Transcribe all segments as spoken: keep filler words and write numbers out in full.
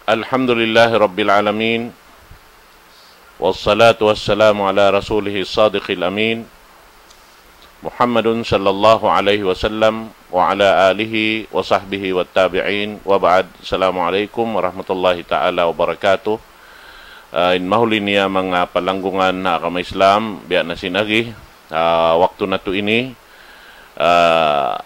الحمد لله رب العالمين، والصلاة والسلام على رسوله الصادق الأمين، محمد صلى الله عليه وسلم، وعلى آله وصحبه والتابعين، وبعد. السلام عليكم ورحمة الله تعالى وبركاته. Ah, in mahuli niya manga palanggungan ha agama Islam, biya' na sin agi, ah, waktu natu' ini, ah,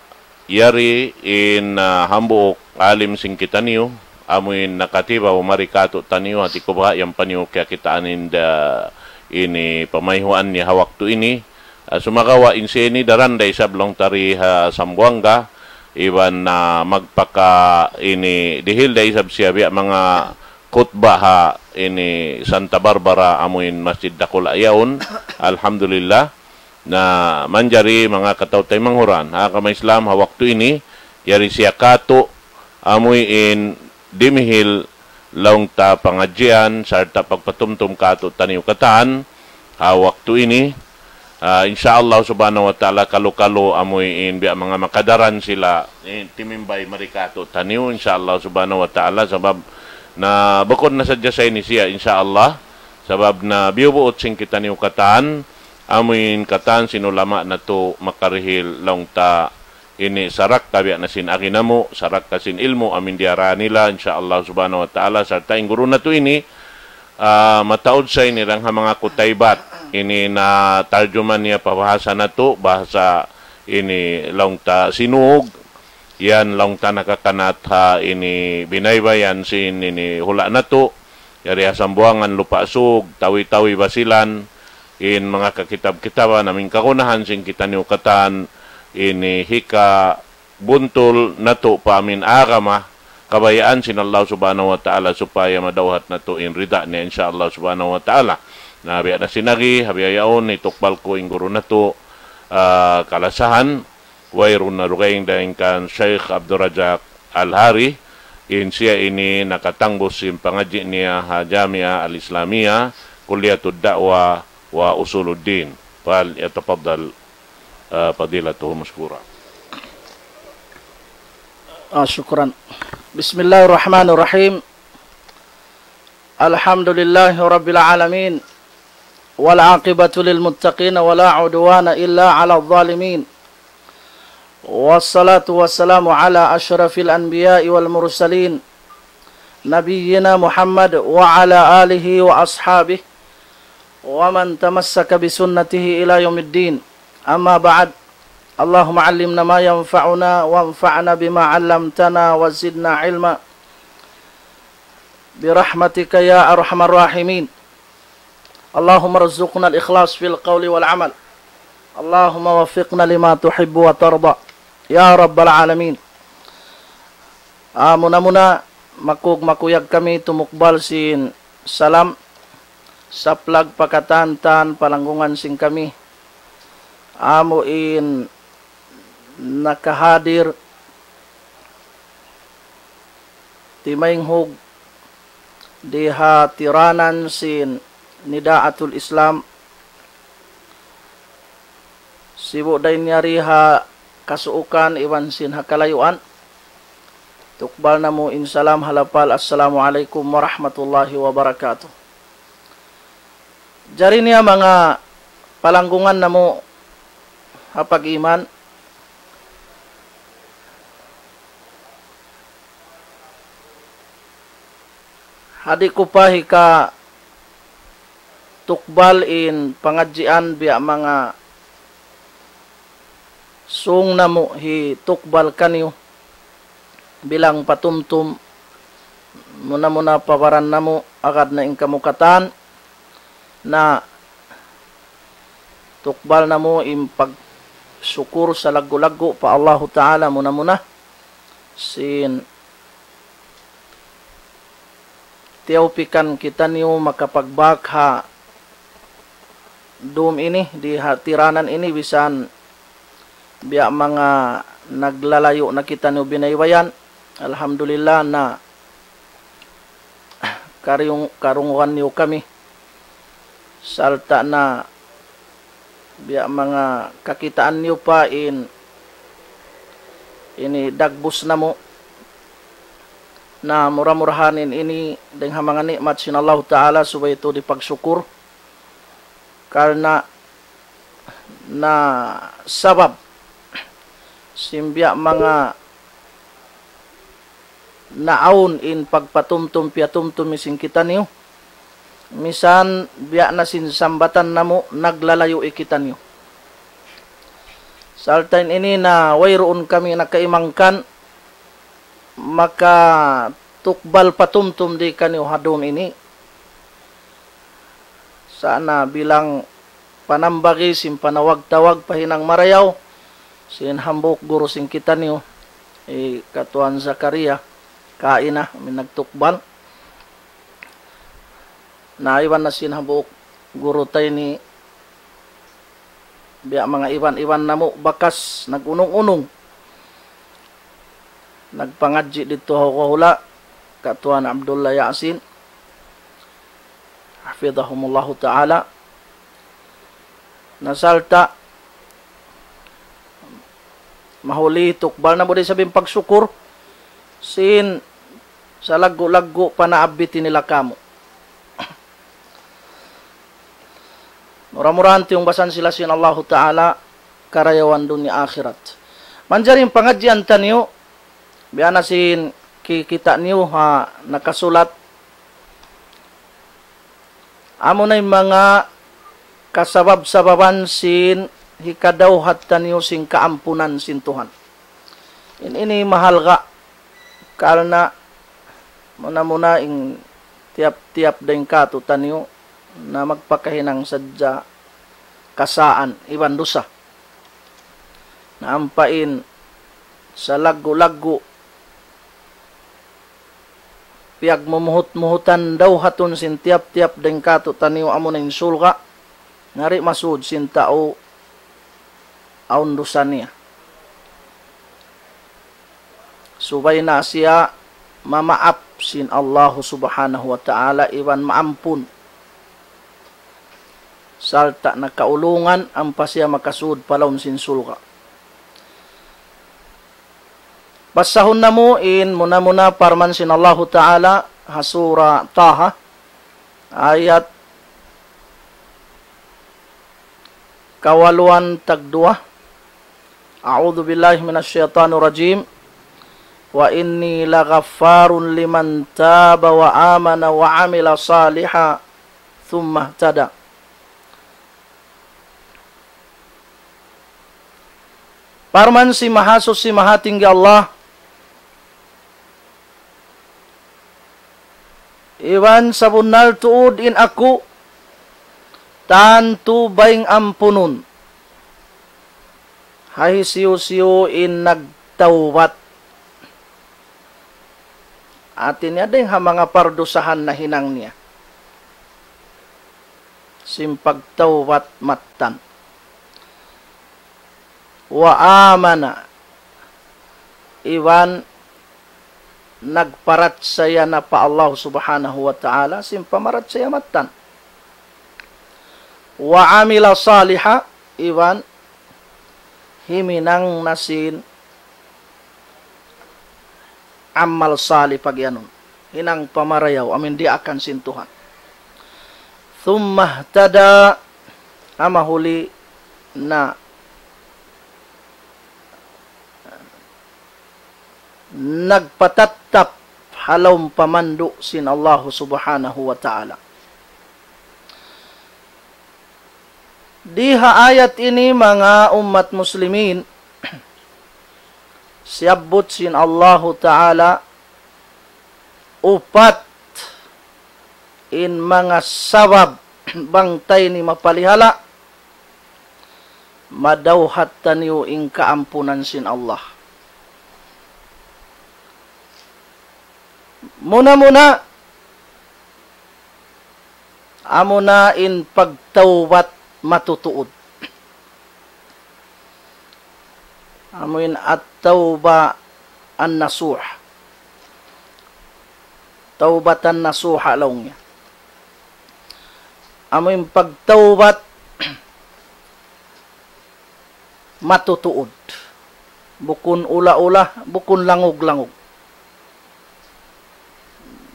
yari in, ah, hambuuk alim sin kitaniyu, amu in nakatibaw mari kātu'niyu, hati ku baha' yan pa niyu kiyakitaan in da ini pamayhuan niya ha waktu ini. Ah, sumagawa' in siya ini daran da isab laung ta di ha Zamboanga, iban, ah, magpaka ini dihil da isab siya biya' manga khutba ha ini Santa Barbara, amu in masjid dakula' yaun. Alhamdulillah. Na manjari manga kataw-taymanghuran ha agama Islam ha waktu ini, yari siya kātu', amu in dimihil laung ta pangadjian, sarta' pagpatumtum kātu'niyu katān ha waktu ini. Ah, insya Allah subhanahu wa ta'ala, kalu-kalu amu in biya' manga makadaran sila, eh, timimbay mari kātu'niyu, insya Allah subhanahu wa ta'ala, sabab na bukun na sadja sa ini siya, insya Allah, sabab na biyubuut sin kitaniyu katān, amu in katān sin ulama natu' makarihil laung ta ini sarakka biya' na sin agi namu', sarakka sin ilmu' amu in diyara nila, insya Allah subhanahu wa ta'ala, sarta' in guru natu' ini, ah, mataud sa ini dayn ha manga Kutaybat. Ini na tarjuman niya pa bahasa natu', bahasa ini laung ta Sinug, yan laung ta nakakanat ha ini binaybayan sin ini hula' natu', yari ha Sambuwangan, Lupa' Sug, Tawi-Tawi, Basilan, in manga kakitab-kitaban, amu in kagunahan sin kitaniyu katān, ini hika buntul natu' pa amu in agama, kabayaan sin Allah subhanahu wa ta'ala supaya madawhat natu' in rida niya, insya Allah subhanahu wa ta'ala. Na biya' na sin agi, ha bihaun, hitukbal ku in guru natu', ah, kalasahan, wayruun na dugaing dayn kan Sheikh Abdul Razak Al-Hari, in siya ini nakatangbus sin pangadji' niya ha Jamia Al-Islamia, Kulliyatud Da'wa wa Usuluddin. فليتفضل، آه، فضيلته مشكورا. آه، شكرا. بسم الله الرحمن الرحيم. الحمد لله رب العالمين. والعاقبة للمتقين ولا عدوان إلا على الظالمين. والصلاة والسلام على أشرف الأنبياء والمرسلين نبينا محمد وعلى آله وأصحابه ومن تمسك بسنته إلى يوم الدين. أما بعد، اللهم علمنا ما ينفعنا وانفعنا بما علمتنا وزدنا علما برحمتك يا أرحم الراحمين. اللهم ارزقنا الإخلاص في القول والعمل. اللهم وفقنا لما تحب وترضى يا رب العالمين. Ah, muna-muna, makug-makuyag kami tumukbal sin salam, saplag pa katān-katān palanggungan sin kami. Amu in nakahadir timaynghug di ha tiranan sin Nidaatul Islam, sibu' dayn yari ha kasuukan iban sin ha kalayuan. Tukbal namu' in salam ha lapal, Assalamu alaykum warahmatullahi wabarakatuh. Jari niya manga palanggungan namu' ha pag-iman, ha di' ku pa hikatukbal in pangadjian biya' manga sūng namu' hitukbal kaniyu bilang patumtum, muna-muna pa baran namu', agad na in kamu katān, na tukbal namu' in pagsukur salaggu'-laggu' pa Allahu Ta'ala muna-muna, sin tiyawpikan kitaniyu makapagbak ha dum ini, di ha tiranan ini, bisan biya' manga naglalayu' na kitaniyu binaybayan. Alhamdulillah na karung-, karungugan niyu kami. Sarta' na biya' manga kakitaan niyu pa in ini dagbus namu'. Na mura-murahan in ini dayn ha manga ni'mat sin Allahu Ta'ala subay tuud hipagsukur. Karna' na sabab sin biya' manga naawn in pagpatumtum piyatumtum sin kitaniyu. Misan biya' na sin sambatan namu' naglalayu' kitaniyu. Sarta' in ini na wayruun kami nakaimangkan makatukbal patumtum di kaniyu ha dum ini. Sa' na bilang panambagi sin panawag-tawag pa hinang marayaw sin hambuuk guru sin kitaniyu, hi Katuan Zakaria Kaina, amu in nagtukbal. Na iban na sin hambuuk guru ta ini, biya' manga iban-iban namu' bakas nag-unung-unung, nagpangadji' didtu ha hula', Katuan Abdullah Yasin, hafidhahumullahu ta'ala. Na sarta' mahuli tukbal namu' da isab in pagsukur sin salaggu'-laggu' panaabbitin nila kamu. Mura-murahan tiyungbasan sila sin Allahu Ta'ala karayawan dunya akhirat. Manjari in pangadjian taniyu, biya' na sin kikita' niyu ha nakasulat, amuna in manga kasabab-sababan sin hikadawhat taniyu sin kaampunan sin Tuhan. In ini mahalga' karna' muna-muna in tiyap-tiyap dayn kātu'niyu na magpakahinang sadja kasaan iban dusa. Na ampa in salaggu'-laggu' piyagmumuhut-muhutan dawhatun sin tiyap-tiyap dayn kātu'niyu amuna in surga', na di' masud sin tau awn dusa niya. Subay na siya mamaap sin Allahu Subhanahu wa Ta'ala iban maampun. Sarta' na kaulungan ampa siya makasud pa lawm sin surga'. Basahun namu' in muna-muna parman sin Allahu Ta'ala ha Sura Taha, ayat kawaluan tagduwa. أعوذ بالله من الشيطان الرجيم. وإني لغفار لمن تاب وآمن وعمل صالحا ثم اهتدى. Parman sin Mahasuchi Mahatinggi Allah, iban sabunnal tuud in aku, tantu bayng ampunun ha hisiyu-siyu in nagtawbat. Hati niya dayn ha manga pardusahan nahinang niya. Sin pagtawbat mattan. Wa amana, iban nagparachaya na pa Allah Subhanahu wa Ta'ala, sin pamarachaya mattan. Wa amila saliha, iban himinang na sin amal salih pagiyanun. Hinang pamarayaw, amu in diyaakan sin Tuhan. Thumma ihtada, ampa mahuli na nagpatattap ha lawm pamandu' sin Allahu Subhanahu wa Ta'ala. Di ha ayat ini manga ummat muslimin, siyabbut sin Allahu Ta'ala upat in manga sabab bang ta ini mapalihala', madawhat taniyu in kaampunan sin Allah. Muna-muna, amuna in pagtawbat matutuud. Amu in at-tawba an-nasuh. Tawbatan nasuha laung niya. Amu in pagtawbat matutuud. Bukun ula-ula, bukun langug-langug.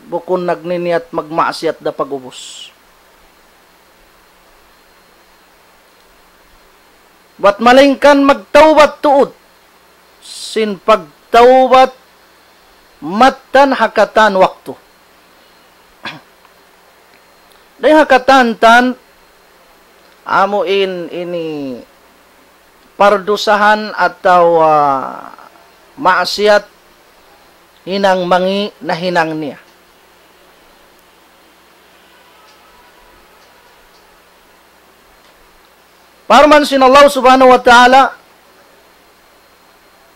bukun nagniniyat magmaksiyat da pag'ubus. Bat malaingkan magtawbat tuud. Sin pagtawbat mattan ha katan waktu. Dayn ha katan-katan, amu in ini pardusahan atawa, ah, maksiyat hinang mangi' nahinang niya. Parman sin Allah Subhanahu wa Ta'ala,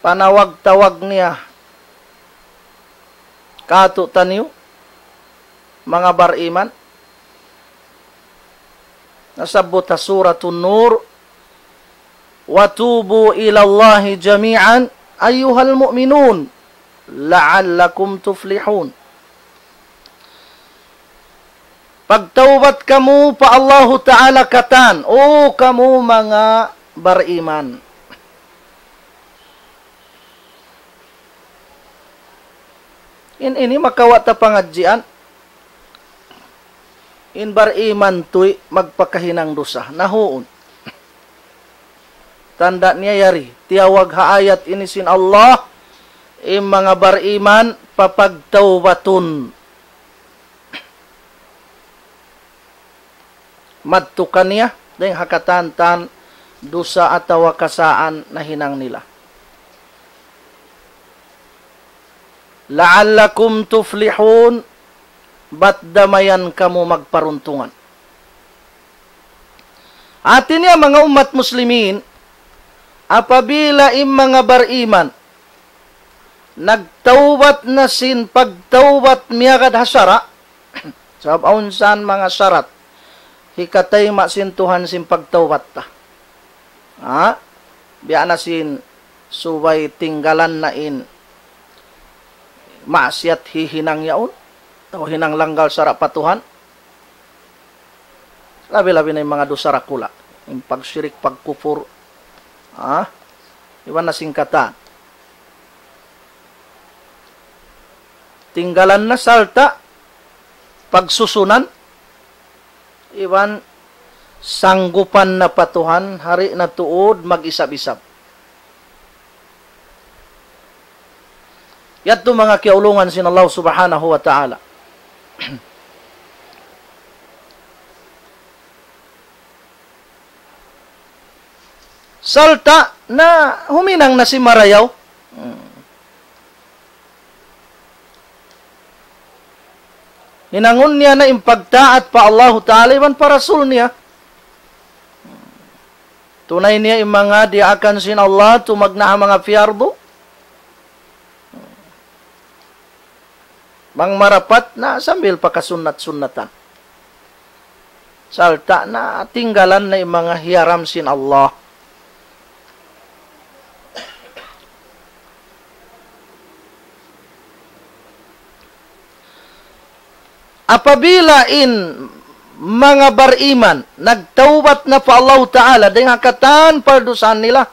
panawag-tawag niya kātu'niyu, manga bariman, nasabbut ha Suratun Nur, وتوبوا إلى الله جميعا أيها المؤمنون لعلكم تفلحون. Pagtawbat kamu pa Allahu Ta'ala katan, O kamu manga bariman. In ini makawa' ta pangadjian. In bariman tuy magpakahinang dusa. Na huun. Tanda' niya yari. Tiyawag ha ayat ini sin Allah, in manga bariman papagtawbatun. Madtu kaniya, dayn ha katan-katan dusa atawa kasaan nahinang nila. لعلكم تفلحون, bat da mayan kamu magparuntungan. Hati niya manga ummat muslimin, apabila in manga bariman, nagtawbat na sin pagtawbat miyagad ha sara', sabab awn san manga sarat, hikatayma' sin Tuhan sin pagtawbat ta. Ha? Biya' na sin subay tinggalan na in maksiyat hihinang yaun, atawa hinang langgal sara' pa Tuhan. Labi-labi na in manga dusa dakula'. In pagsirik, pagkupur. Ha? Iban na sin katan. Tinggalan na sarta' pagsusunan. Iban sanggupan na pa Tuhan, hari na tuud mag-isab-isab. Yadtu manga kiyaulungan sin Allah Subhanahu wa Ta'ala. Sarta' na huminang na sin marayaw. Hmm. Hinangun niya na in pagtaat pa Allahu Ta'ala iban pa Rasul niya. Tunay niya in manga diyaakan sin Allah, tumagna' ha manga piyardu. Bang marapat na sambil pakasunnat-sunnatan. Sarta' na tinggalan na in manga hiyaram sin Allah. Apabila in manga bariman nagtawbat na pa Allahu Ta'ala dayn ha katan pardusahan nila,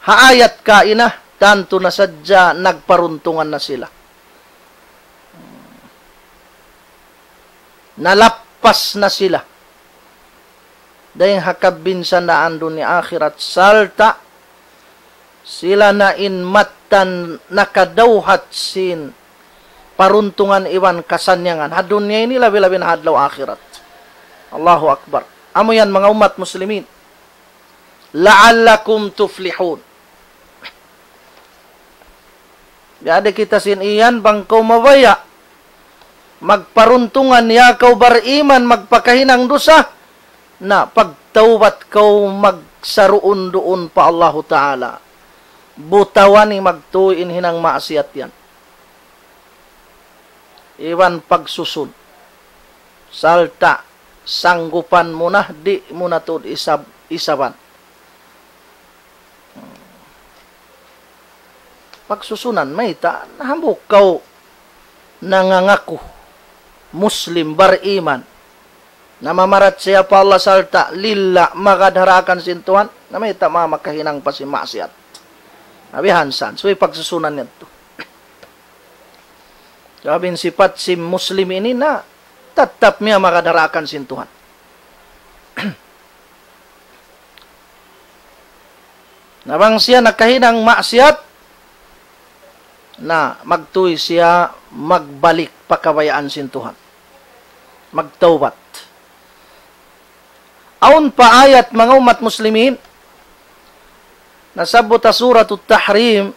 ha ayat kaina, tantu na sadja nagparuntungan na sila. Nalappas na sila dayn ha kabinsanaan dunya akhirat, sarta' sila na in mattan nakadawhat sin paruntungan iban kasannyangan ha dunya ini, labi-labi na ha adlaw akhirat. Allahu Akbar. Amu yan, manga ummat muslimin. لعلكم تفلحون. Jadi kita sin iyan, bang kaw mabaya' magparuntungan, ya kaw bariman, magpakahinang dusa, na pagtawbat kaw magsaruun-duun pa Allahu Ta'ala. Butawan in magtuy in hinang maksiyat yan. Iban pagsusun. Sarta' sanggupan mu na, di' mu na tuud isab-, isaban. Pagsusunan, mayta', hambuuk kaw nangangaku Muslim, bariman, namamarachaya pa Allah sarta' lilla' magad ha daakan sin Tuhan, na mayta' ma-, makahinang pa sin maksiyat. Na biya' hān san, subay pagsusunan yadtu. Sabab in sipat sin Muslim ini na tattap miyamagad ha daakan sin Tuhan. Na bang siya nakahinang maksiat, na magtuy siya magbalik pa kabayaan sin Tuhan. Magtawbat. Awn pa ayat, manga ummat muslimin, nasabbut ha Suratut Tahrim,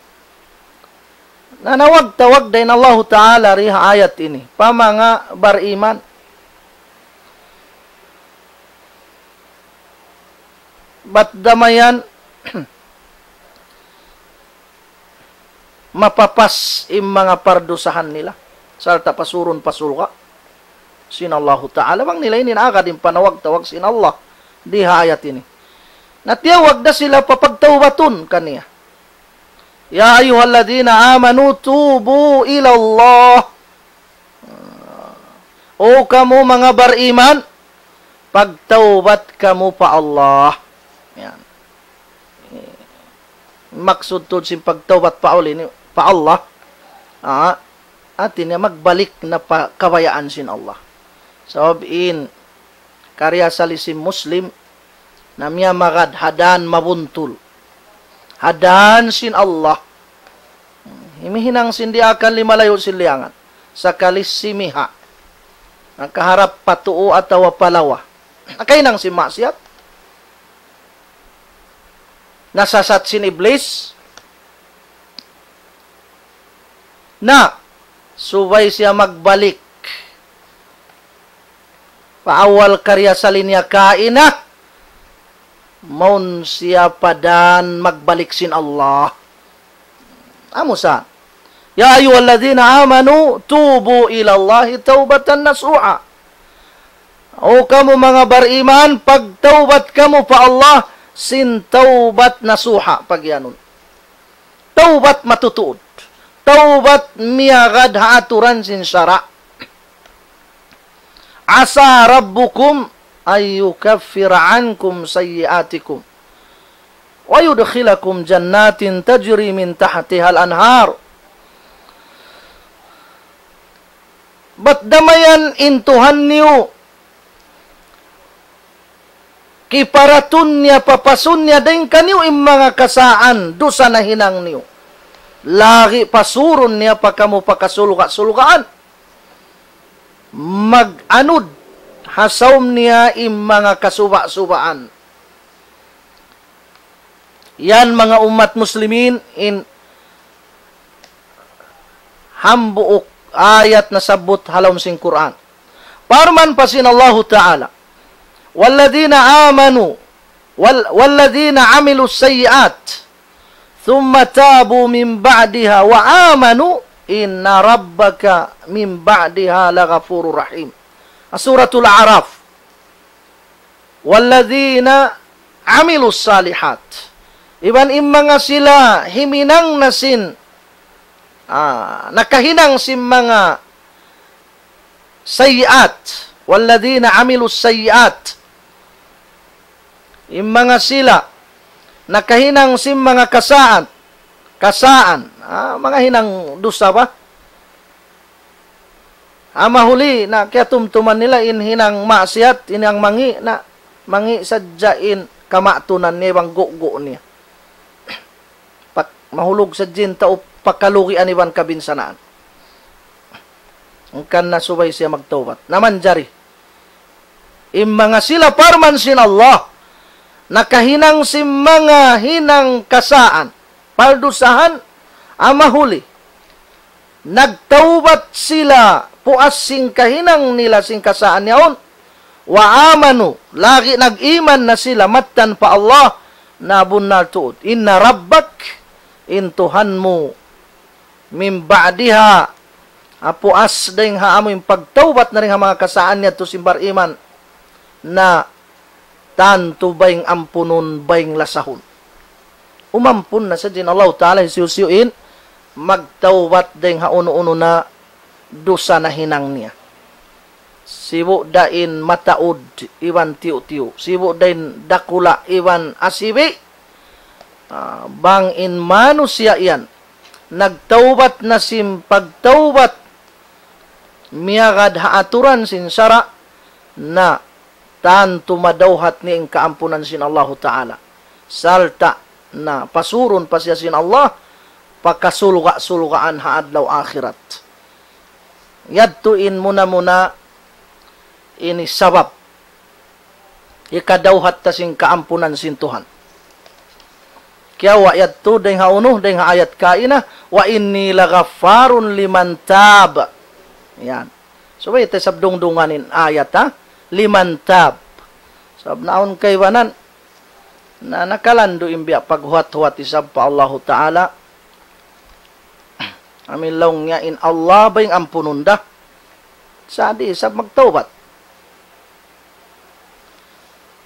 na nawagtawag da in Allahu Ta'ala di ha ayat ini pa manga bariman. Bat damayan mapapas in manga pardusahan nila, sarta' pasurun pa surga' sin Allahu Ta'ala. Bang nila ini naagad in panawag-tawag sin Allah di ha ayat ini. Na tiyawag da sila pa pagtawbatun kaniya. يا أيها الذين آمنوا توبوا إلى الله. O kamu manga bariman, pagtawbat kamu pa Allah. Yan. Maksud tuud sin pagtawbat pa Allah ini, pa Allah. Ah, hati niya magbalik na pa kabayaan sin Allah. Sabab in karna' asal sin Muslim, na miyamagad ha dān mabuntul. Ha dān sin Allah. Himihinang sin diyaak, limalayu' sin liyangan. Sakali simiha'. Nakaharap pa tuu atawa pa lawa. Nakahinang sin maksiat. Nasasat sin Iblis. Na, subay siya magbalik pa awal karna' asal niya kaina, mawn siya pa dān magbalik sin Allah. Amu sa, يا أيها الذين آمنوا توبوا إلى الله توبة نصوحا. O kamu manga bariman, pagtawbat kamu pa Allah sin tawbat nasuha, pagiyanun. Tawbat matutuud. Tawbat miyagad ha aturan sin sara'. عسى ربكم أن يكفر عنكم سيئاتكم ويدخلكم جنات تجري من تحتها الأنهار. Bat damayan in Tuhan niyu kiparatun niya, papasun niya dayn kaniyu in manga kasaan dusa nahinang niyu. Lagi' pasurun niya pa kamu pa kasulga'-sulgaan. Mag-anud ha sawm niya in manga kasuba'-subaan. Yan manga ummat muslimin in hambuuk ayat nasabbut ha lawm sin Qur'an. Parman pa sin Allahu Ta'ala, والذين آمنوا وال-، والذين عملوا السيئات ثم تابوا من بعدها وآمنوا إن ربك من بعدها لغفور رحيم. Suratul A'raf. والذين عملوا الصالحات. Iban in manga sila himinang na sin, ah, nakahinang sin manga sayyi'at. والذين عملوا السيئات. In manga sila nakahinang sin manga kasaan, kasaan, ah, manga hinang dusa ba? Amahuli na kiyatumtuman nila in hinang maksiat, in hinang mangi', na mangi' sadja in kamatunan niya iban gugu' niya. Pak-, mahulug sadja in tau pakalugian iban kabinsanaan. Hangkan na subay siya magtawbat. Na manjari. In manga sila parman sin Allah, nakahinang sin manga hinang kasaan, pardusahan, amahuli. Nagtawbat sila, puas sin kahinang nila sin kasaan yaun. وآمنوا, lagi' nag-iman na sila mattan pa Allah, na bunnal tuud. إن ربك, in Tuhan mu, من بعدها, ha puas dayn ha amu in pagtawbat na dayn ha manga kasaan niya yadtu sin bariman, na tantu bayng ampunun, bayng lasahun. Umampun na sadja in Allahu Ta'ala hisiyu-siyu in magtawbat dayn ha unu-unu na dusa nahinang niya. Sibu' da in mataud iban tiyu'-tiyu'. Sibu' da in dakula' iban asibi'. Ah, bang in manusiya' yan nagtawbat na sin pagtawbat miyagad ha aturan sin sara', na tantu madawhat niya in kaampunan sin Allahu Ta'ala. Sarta' na pasurun pa siya sin Allah, pa kasulga'-sulgaan ha adlaw akhirat. Yadtu in muna-muna ini sabab hikadawhat ta sin kaampunan sin Tuhan. Kiyawa' yadtu dayng ha unu, dayng ha ayat kaina, "Wa inni laghaffarun liman tab." Yan. Subay ta isab dungdungan in ayat, ha? Liman tab. Sabab naawn kaibanan, na nakalandu' in biya' paghuwat-huwat isab pa Allahu Ta'ala. Amu in laung niya in Allah bayng ampunun da. Sa' di' isab magtawbat.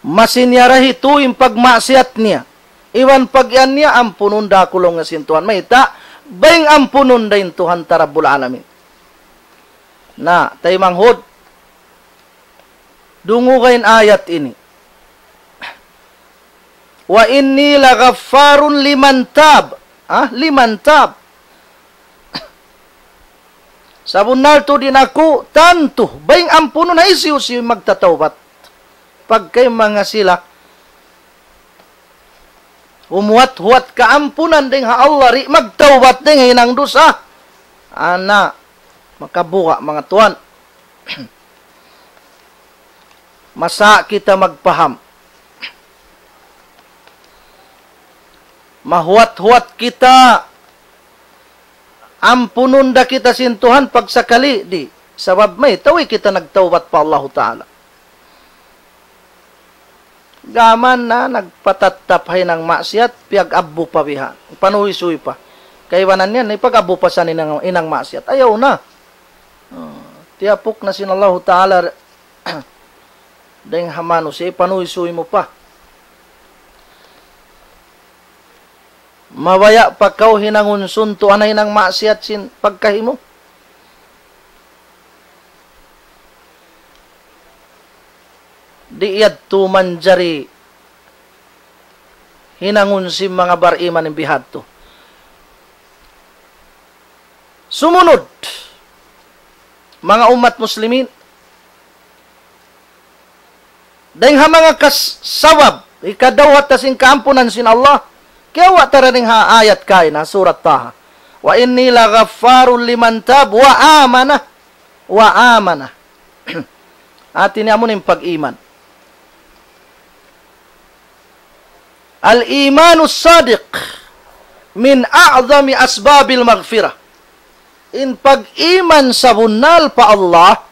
Masi niya ra hitu in pagmaksiyat niya. Iban pag-iyan niya, ampunun da aku laung niya sin Tuhan. Mayta', bayng ampunun da in Tuhan ta Rabbul Alamin. Na, taymanghud, dunguga in ayat ini. "Wa inni laghaffarun liman tab." Ha? Liman tab. Sabunnal tuud in aku, tantu, bayng ampunun na hisiyu-siyu in magtatawbat. Pagka in manga sila, humuwat-huwat kaampunan dayng ha Allah, di' magtawbat dayng ha hinang dusa. Ana, makabuga', manga tuwan. Masa kita magpaham. Mahuwat-huwat kita, ampunun da kita sin Tuhan pagsakali, di'. Sabab mayta' way kita nagtawbat pa Allahu Ta'ala. Gām na nagpatattap ha hinang maksiyat, piyag-abbu pa biha'. Panuysuy pa. Kaibanan yan, ipag-abbu pa sa hinang, hinang maksiyat. Ayaw na. Ah, tiyapuk na sin Allahu Ta'ala dayng ha manusiya', ipanuysuy mu pa. Mabaya' pa kaw hinangun suntuan ha hinang maksiyat sin pagkahi mu. Di' yadtu manjari hinangun sin manga bariman in bihadtu. Sumunud, manga ummat muslimin, dayng ha manga kas-, sabab, hikadawhat ta sin kaampunan sin Allah, kiyawa' ta ra dayng ha ayat kaina, surat Taha. "Wa inni laghaffarun liman tab wa amana." Wa amana. Hāti niya amu in pag-iman. Al-imanus sadiq min a'zami asbabil maghfirah. In pag-iman sabunnal pa Allah,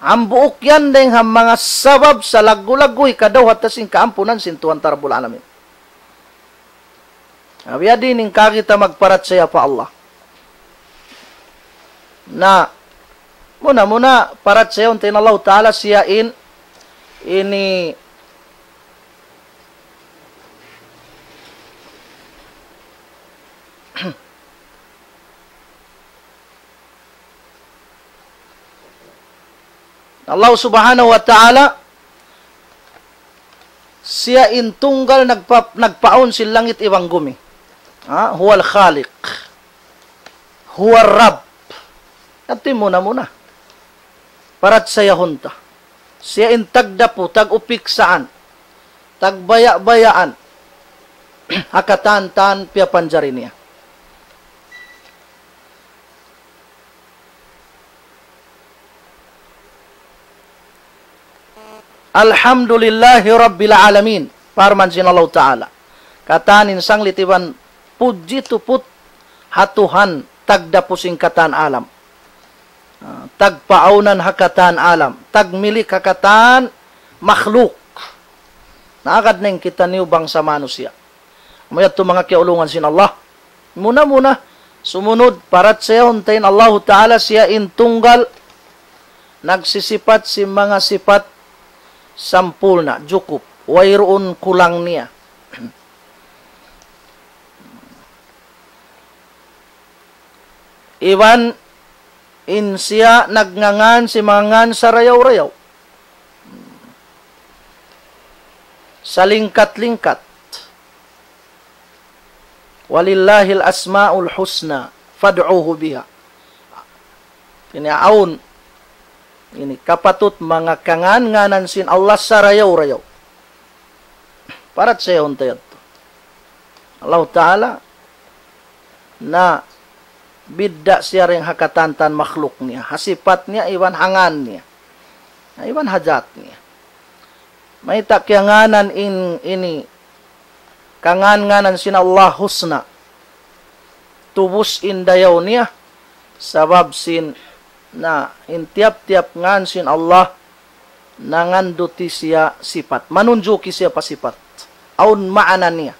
hambuuk yan dayng ha manga sabab salaggu'-laggu' hikadawhat ta sin kaampunan sin Tuhan ta Rabbul Alamin. Na, biya' diin in kaagi ta magparachaya pa Allah. Na, muna-muna, parachayahun ta in Allahu Ta'ala siya in, ini, Allah Subhanahu wa Ta'ala, siya in tunggal nagpa-, nagpaawn sin langit iban gumi. Ha? Huwal Khaliq. Huwar Rabb. Yadtu in muna-muna. Parachayahun ta. Siya in tagdapu, tag-upiksaan, tagbaya'-bayaan, ha katan-katan piyapanjari niya. Alhamdulillahi Rabbil Alamin. Parman sin Allahu Ta'ala. Katan in sanglit iban pudji tuput ha Tuhan tagdapu sin katan alam. Ah, tagpaawnan ha katan alam. Tagmilik ha katan makhluk. Na agad na in kitaniyu bangsa manusiya'. Amu yadtu manga kiyaulungan sin Allah. Muna-muna, sumunud, parachayahun ta in Allahu Ta'ala siya in tunggal nagsisipat sin manga sipat sampurna', jukup, wayruun kulang niya. Iban in siya nagngangan sin manga ngan sarayaw-rayaw. Salingkat-lingkat. "Walillahil asma'ul husna fad'uhu biha." Ini awn, ini kapatut manga kangan-nganan sin Allah sarayaw-rayaw. Parat sa yaun ta yadtu. Allah Ta'ala na bidda' siya dayn ha katan-katan makhluk niya. Ha sipat niya, iban ha ngan niya. Na iban ha jat niya. Mayta' kiyangānan in, ini, kangan-nganan sin Allah husna. Tubus in dayaw niya, sabab sin, na, in tiyap-tiyap ngan sin Allah, nanganduti siya sipat. Manunjuki siya pa sipat. Awn maana niya.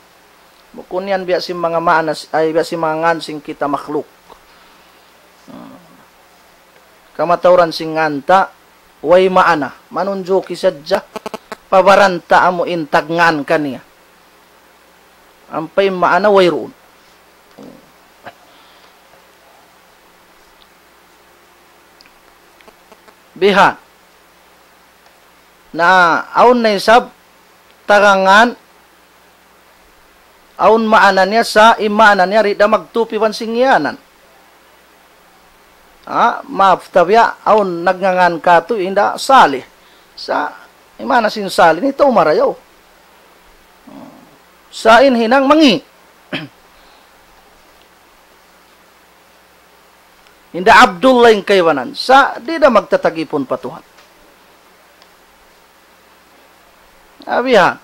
Bukun yan biya' sin manga maana, ay, biya' sin manga ngan sin kita makhluk. Hmm. Kamatauran sin ngan ta, way maana. Manunjuki sadja, pabaran ta amu in tagngan kaniya. Ampa in maana wayruun. Biha. Na, awn na isab, tagngan, awn maana niya sa, in maana niya di' da magtup iban sin ngiyanan. Ha, maaf, tabiya', awn nagngangan katu', hinda Salih. Sa', in maana sin Salih, ini tau marayaw. Sa' in hinang mangi'. Hinda Abdullah in kaibanan. Sa' di' da magtatagipun pa Tuhan. Abihan.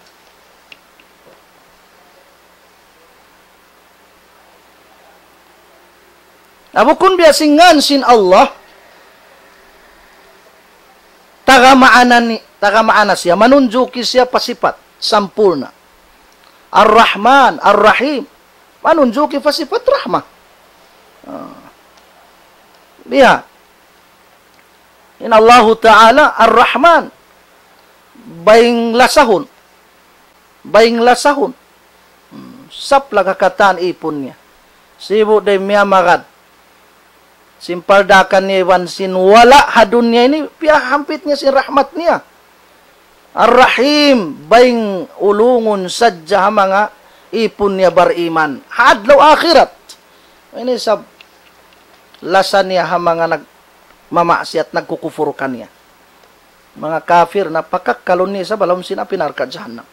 Na bukun biya' sin ngan sin Allah, taga maana ni, taga maana siya, manunjuki siya pa sipat, sampurna'. Ar-Rahman, Ar-Rahim, manunjuki pa sipat rahma. Ah. Biya'. In Allahu Ta'ala Ar-Rahman. Bayng lasahun. Bayng lasahun. Hmm, saplag ha katan ipun niya. Sibu' da miyamagad. Sin paldakan niya iban sin wala' ha dunya ini, piyahampit niya sin rahmat niya. Ar-Rahim, bayng ulungun sadja ha manga ipun niya bariman. Ha adlaw akhirat. Ini sab lasa niya ha manga nagmamaksiyat, nagkukupur kaniya. Manga kafir na pakakkalun niya isab ha lawm sin api narka' jahannam.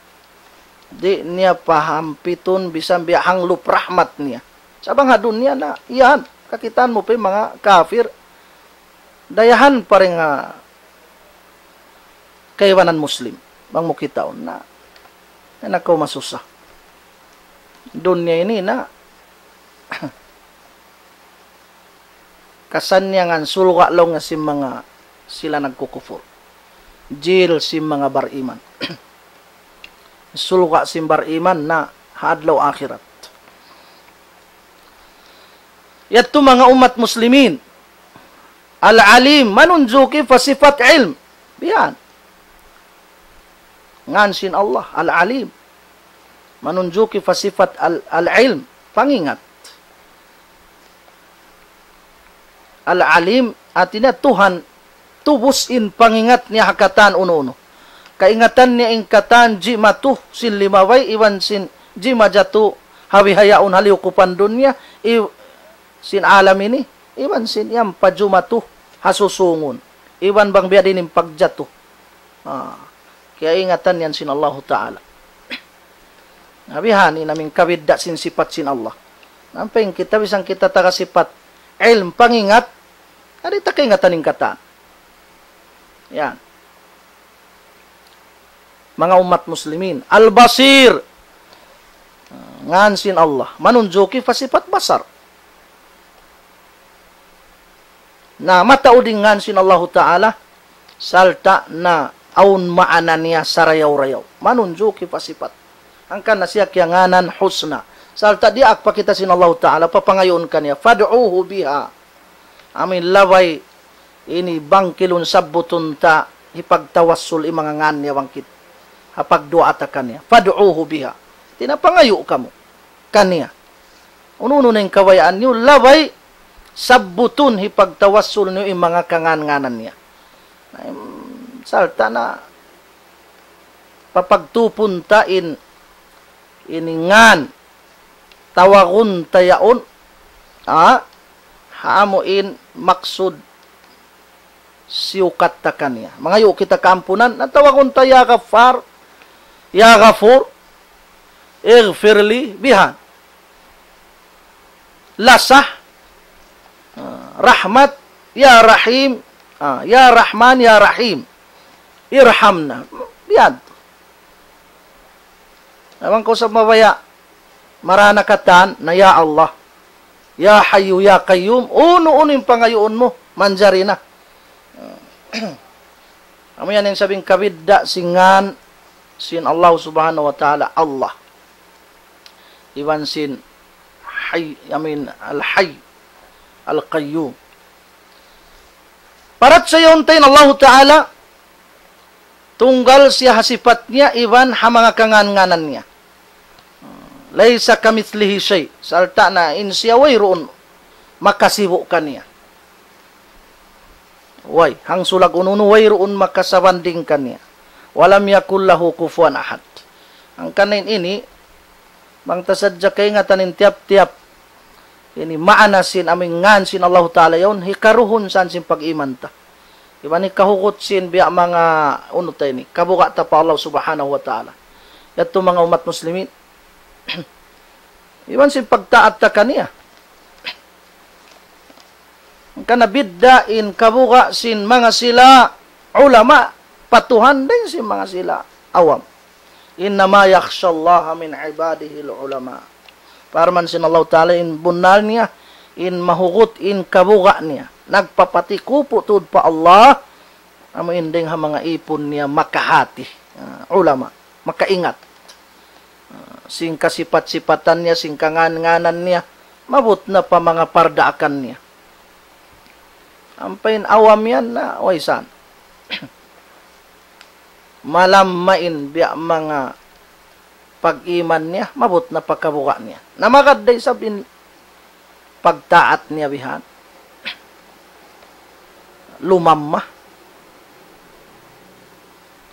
Di' niya pahampitun bisan biya' hanglup rahmat niya. Sa' bang ha dunya na, yan, kakitaan mu pa in manga kafir, dayahan pa dayn ha kaibanan Muslim, bang mu kitaun na, ay nakaw masusa. Dunya ini na, kasannyangan surga' laung niya sin manga sila nagkukupur. Jil sin manga bariman. Surga' sin bariman na ha adlaw akhirat. Yadtu manga ummat muslimin. Al-Alim, manunjuki pa sipat ilm. Biya' yan. Ngan sin Allah, Al-Alim. Manunjuki pa sipat al-, al-ilm, pangingat. Al-Alim, hāti niya Tuhan, tubus in pangingat niya ha katan unu-unu. Kaingatan niya in katan jimatu sin limabay, iban sin jimajatu ha bihaun ha liyukupan dunya, i-, sin alam ini, iban sin yan pa jumatu ha susūngun. Iban bang biya' diin in pagjatu. Ah, kiyaingatan yan sin Allahu Ta'ala. Na bihan ini in kabidda' sin sipat sin Allah. Ampa in kita, bisan kita taga sipat ilm, pangingat, di' ta kaingatan in katan. Yan. Manga ummat muslimin. Al-Basir. Ngan sin Allah. Manunjuki pa sipat basar. Na mataud in ngan sin Allahu Ta'ala, sarta' na awn maana niya sarayaw-rayaw. Manunjuki pa sipat. Hangkan na siya kiyangānan husna. Sarta' diyaak pa kita sin Allahu Ta'ala, papangayuun kaniya, فادعوه بها. Amu in labay ini bangkilun sabbutun ta hipagtawassul in manga ngan niya bangkit. Ha pagduwaa ta kaniya. فادعوه بها. Hāti niya pangayu' kamu kaniya. Unu-unu na in kabayaan niyu, labay sabbutun hipagtawassul niyu in manga kangan-nganan niya. Na, im, sarta' na papagtupun ta in, ini ngan, tawagun ta yaun, ha? Ha amu in maksud siyukat ta kaniya. Mangayu' kita kaampunan, na tawagun ta ya Ghaffar, ya Ghafur, ighfir li, bihan. Lasa, ah, rahmat, ya Rahim, ah, ya Rahman, ya Rahim, irhamna. Bihan. Amun kaw sa mabaya', marana katan na ya Allah, ya Hayyu, ya Qayyum, unu-unu in pangayuun mu, manjari na. Amu yan in sabing kabidda' sin ngan sin Allah Subhanahu wa Ta'ala, Allah. Iban sin Hayy, I mean, Al-Hayy, Al-Qayyum. Parachayahun ta in Allahu Ta'ala, tunggal siya ha sipat niya, iban ha manga kangan-nganan niya. ليس كمثله شيء. Sarta' na in siya wayruun makasibu' kaniya. Way, hangsulag unu-unu wayruun makasabanding kaniya. ولم يكن له كفوا أحد. Hangkan in ini, bang ta sadja kaingatan in tiyap-tiyap ini maana sin amu in ngan sin Allahu Ta'ala yaun, hikaruhun san sin pag-iman ta. Iban hikahugut sin biya' manga unu ta ini, kabuga' ta pa Allah Subhanahu wa Ta'ala. Yadtu manga ummat muslimin. Iban sin pagtaat ta kaniya. Hangkan na bidda' in kabuga' sin manga sila ulama pa Tuhan dayn sin manga sila awam. إنما يخشى الله من عباده العلماء. Parman sin Allahu Ta'ala, in bunnal niya, in mahugut in kabuga' niya, nagpapatikupu tuud pa Allah, amu in dayng ha manga ipun niya makahati, ah, ulama, makaingat. Ah, sin kasipat-sipatan niya, sin kangan-nganan niya, maabut na pa manga pardaakan niya. Ampa in awam yan na, way san. Malamma in biya' manga pag-iman niya, maabut na pa kabuga' niya. Na magad da isab in pagtaat niya bihan. Lumamma.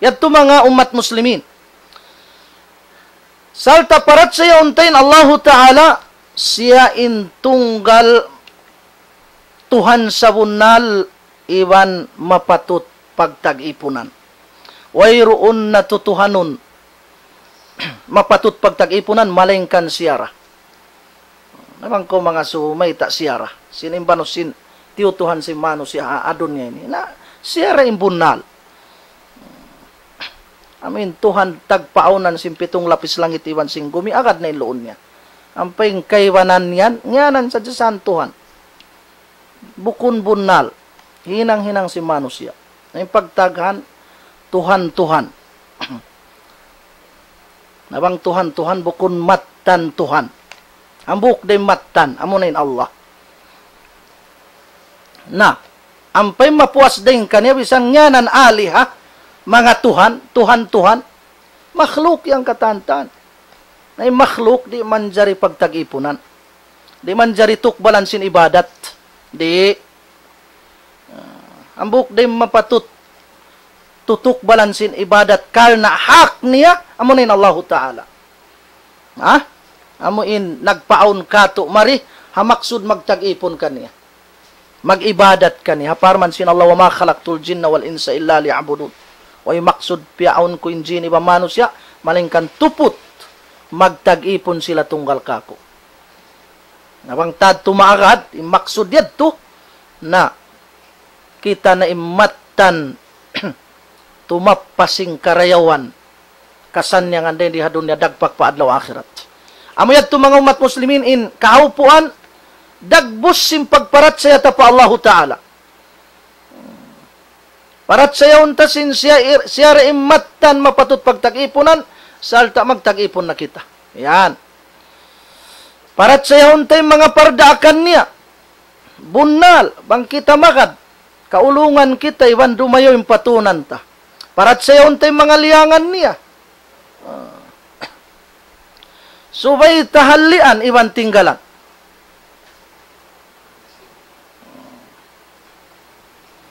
Yadtu manga ummat muslimin. Sarta' parachayahun ta in Allahu Ta'ala, siya in tunggal Tuhan sabunnal iban mapatut pagtag-ipunan. Wayruun na tutuhanun mapatut pagtag-ipunan, malaingkan siya ra. Na bang kaw manga sumayta' siya ra. Sin in banus sin tiyutuhan sin manusiya' ha dunya ini. Na siya ra in bunnal. Amu in Tuhan tagpaawnan sin pitung lapis langit iban sin gumi, agad na in luun niya. Ampa in kaibanan yan, ngiyanan sadja san Tuhan. Bukun bunnal. Hinang-hinang sin manusiya'. Na in pagtaghan, Tuhan, Tuhan. Na bang Tuhan, Tuhan, bukun mattan Tuhan. Hambuuk da in mattan, amuna in Allah. Na, ampa in mapuas dayn kaniya, bisan ngiyanan aliha, manga Tuhan, Tuhan, Tuhan, makhluk yan katan-katan. Na in makhluk di' manjari pagtag-ipunan. Di' manjari tukbalan sin ibadat. Di'. Ah, hambuuk da in mapatut tutukbalan sin ibadat karna' hak niya, amuna in Allahu Ta'ala. Ha? Amu in nagpaawn katu' mari, ha maksud magtag-ipun kaniya. Mag-ibadat kaniya. Ha parman sin Allah, وما خلقت الجن والإنس إلا ليعبدون. Way maksud piyaawn ku in jin iban manusiya', malaingkan tuput magtag-ipun sila tunggal kāku'. Na bang ta tumaagad, in maksud yadtu, na kita na in mattan tumappa sin karayawan, kasannyangan dayn di ha dunya dagpak pa adlaw akhirat. Amu yadtu manga ummat muslimin in kahaupuan, dagbus sin pagparachaya ta pa Allahu Ta'ala. Parachayahun ta sin siya, siya ra in mattan mapatut pagtag-ipunan, sarta' magtag-ipun na kita. Yan. Parachayahun ta in manga pardaakan niya. Bunnal, bang kita magad, kaulungan kita, iban dumayaw in patunan ta. Parachayahun ta in manga liyangan niya. Ah. Subay ta hallian, iban tinggalan.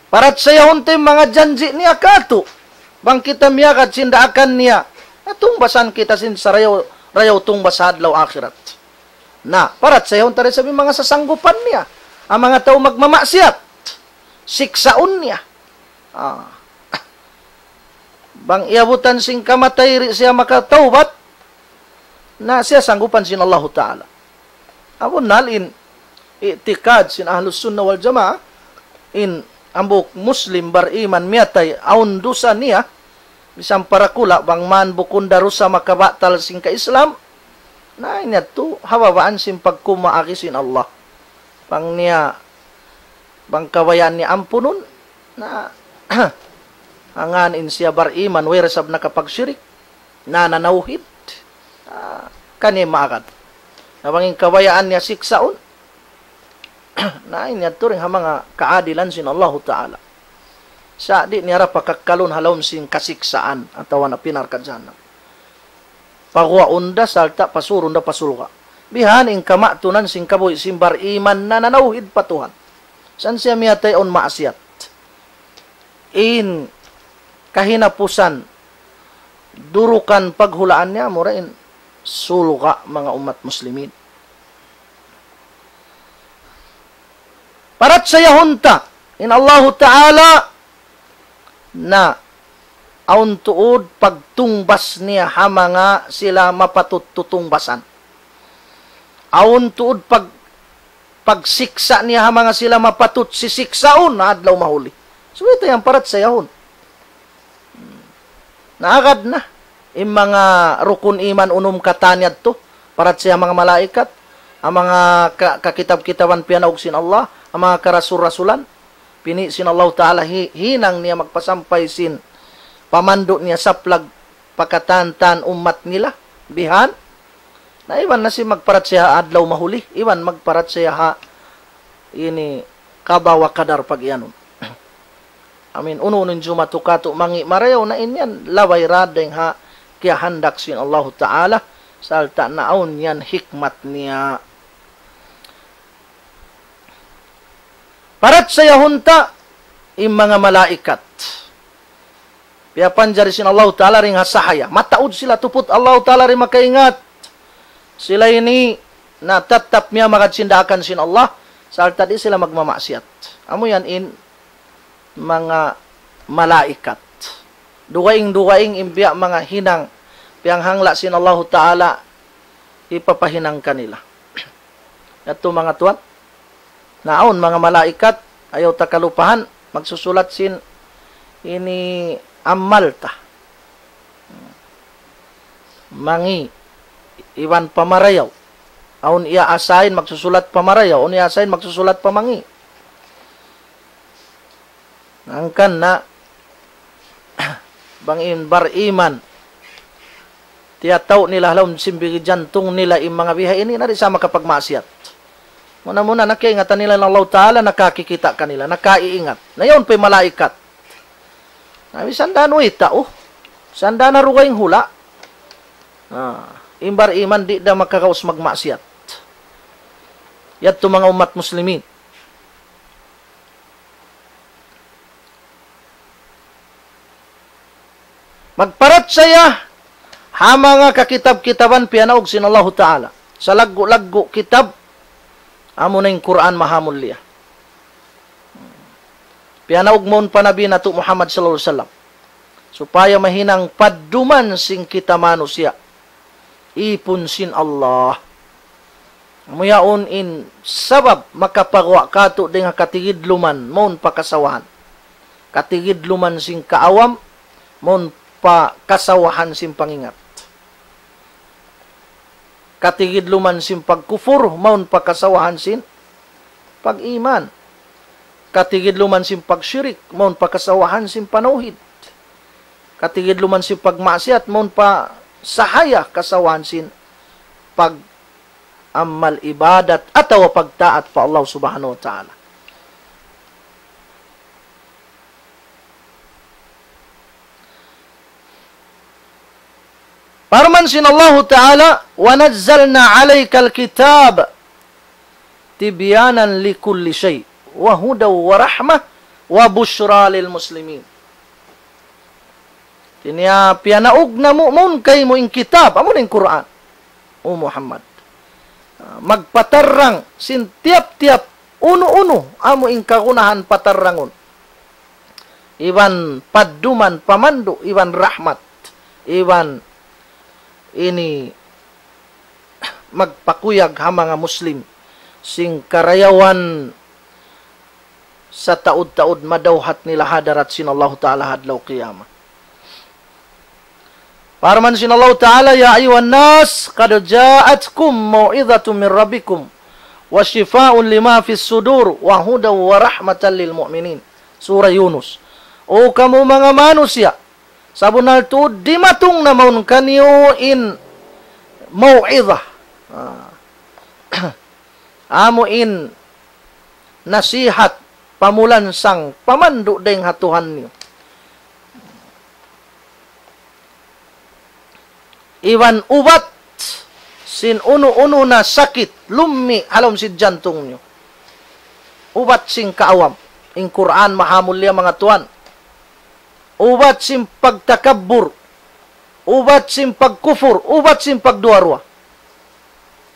Parachayahun ta in manga janji' niya kātu'. Bang kita miyagad sin daakan niya, na tungbasan kita sin sarayaw-rayaw tungbas ha adlaw akhirat. Na, parachayahun ta da isab in manga sasanggupan niya. In manga tau magmamaksiyat, siksaun niya. Ah. Bang iyabutan sin kamatay di' siya makatawbat, na siya sanggupan sin Allahu Ta'ala. Amun hal in i'tikad sin Ahlus Sunnah wal Jamaah, in hambuuk Muslim bariman miyatay awn dusa niya, misan parakula' bang man bukun da dusa makabatal sin ka-Islam, na in yadtu ha babaan sin pagkumaagi sin Allah. Bang niya, bang kabayaan niya ampunun, na hangkan in siya bariman, way da isab nakapagshirik, na nanawhid, ah, kaniya maagad. Na bang in kabayaan niya siksaun, na in yadtu dayn ha manga kaadilan sin Allahu Ta'ala. Sa' di' niya da pakakkalun ha lawm sin kasiksaan atawa na api narka' jahannam. Paguwaun da sarta' pasurun da pa surga'. Bihan in kamatunan sin kabuhi' sin bariman na nanawhid pa Tuhan. Sa' in siya miyatay awn maasiyat. In kahinapusan, durukan paghulaan niya, amura in surga' manga ummat muslimin. Parachayahun ta, in Allahu Ta'ala na awn tuud pagtungbas niya ha manga sila mapatut tutungbasan. Awn tuud pag-, pagsiksa' niya ha manga sila mapatut sisiksaun ha adlaw mahuli. Subay ta yan parachayahun. Naagad na in manga rukun iman unum katan yadtu, parachaya ha manga malaikat, ha manga ka-, kakitab-kitaban piyanaug sin Allah, ha manga karasul-rasulan, pini' sin Allahu Ta'ala hi-, hinang niya magpasampay sin pamandu' niya saplag pa katan-katan ummat nila, bihan. Na iban na sin magparachaya ha adlaw mahuli, iban magparachaya ha ini qada wa qadar pag-iyanun. Amin, unu-unu in jumatu katu' mangi' marayaw, na in yan labay da dayn ha kiyahandak sin Allahu Ta'ala, sarta' na awn yan hikmat niya. Parachayahun ta in manga malaikat. Piyapanjari sin Allahu Ta'ala dayn ha sahaya. Mataud sila, tuput Allahu Ta'ala di' makaingat. Sila ini na tattap miyamagad sin daakan sin Allah, sarta' di' sila magmamaksiyat. Amu yan in manga malaikat. Dugaing-dugaing in biya' manga hinang, piyanghangla' sin Allahu Ta'ala, hipapahinang kanila. Yadtu manga tuwan. Na awn manga malaikat, ayaw ta kalupahan, magsusulat sin ini amal ta. Mangi', iban pa marayaw. Awn iya-assign magsusulat pa marayaw, awn iya-assign magsusulat pa mangi'. Hangkan na, bang in bariman, tiyatau' nila ha lawm sin bigi jantung nila in manga biha ini, na di' sa makapagmaksiyat. Muna-muna, na kiyaingatan nila in Allahu Ta'ala, nakakikita' kanila, nakaiingat. Na yaun pa in malaikat. Na misan da nuwi tau, misan da na dugaing hula'. Ah, in bariman di' da makagaus magmaksiyat. Yadtu manga ummat muslimin. Magparachaya ha manga kakitab-kitaban piyanaug sin Allahu Ta'ala. Salaggu'-laggu' kitab, amuna in Qur'an maha mulia. Piyanaug mawn pa Nabi natu' Muhammad sallallahu alayhi wasallam. Supaya mahinang padduman sin kita manusiya'. Ipun sin Allah. Amu yaun in sabab makapaguwa' katu' dayn ha katigidluman mawn pa kasawahan. Katigidluman sin kaawam mawn pa kasawahan sin pangingat. Katigidluman sin pagkupur mawn pa kasawahan sin pag-iman. Katigidluman sin pagshirik mawn pa kasawahan sin panawhid. Katigidluman sin pagmaksiyat mawn pa sahaya kasawahan sin pag-amal ibadat atawa pagtaat pa Allah Subhanahu wa Ta'ala. Parman sin Allahu Ta'ala, وَنَزَّلْنَا عَلَيْكَ الْكِتَابَ تِبْيَانًا لِكُلِّ شَيْءٍ وَهُدًى وَرَحْمَةً وَبُشْرَى لِلْمُسْلِمِينَ. Hāti niya piyanaug namu' mawn kaymu in kitab, amu in Qur'an. O Muhammad. Ah, magpatarrang sin tiyap-tiyap unu-unu, amu in kagunahan patarrangun. iban padduman, pamandu', iban rahmat, iban ini magpakuyag ha manga Muslim sin karayawan sataud-taud madawhat nila ha hadarat sin Allahu Ta'ala ha adlaw qiyamah. Parman sin Allahu Ta'ala, يا أيها الناس قد جاءتكم موعظة من ربكم وشفاء لما في الصدور وهدى ورحمة للمؤمنين. Surah Yunus. O kamu manga manusiya', sabunnal tuud dimatung na mawn kaniyu in mau'izah. Ah. Amu in nasihat, pamulansang, pamandu' dayng ha Tuhan niyu. Iban ubat sin unu-unu na sakit, lummi' ha lawm sin jantung niyu. Ubat sin kaawam. In Qur'an mahamulliya manga tuwan. Ubat sin pagtakabbur. Ubat sin pagkufur. Ubat sin pagduwa-ruwa.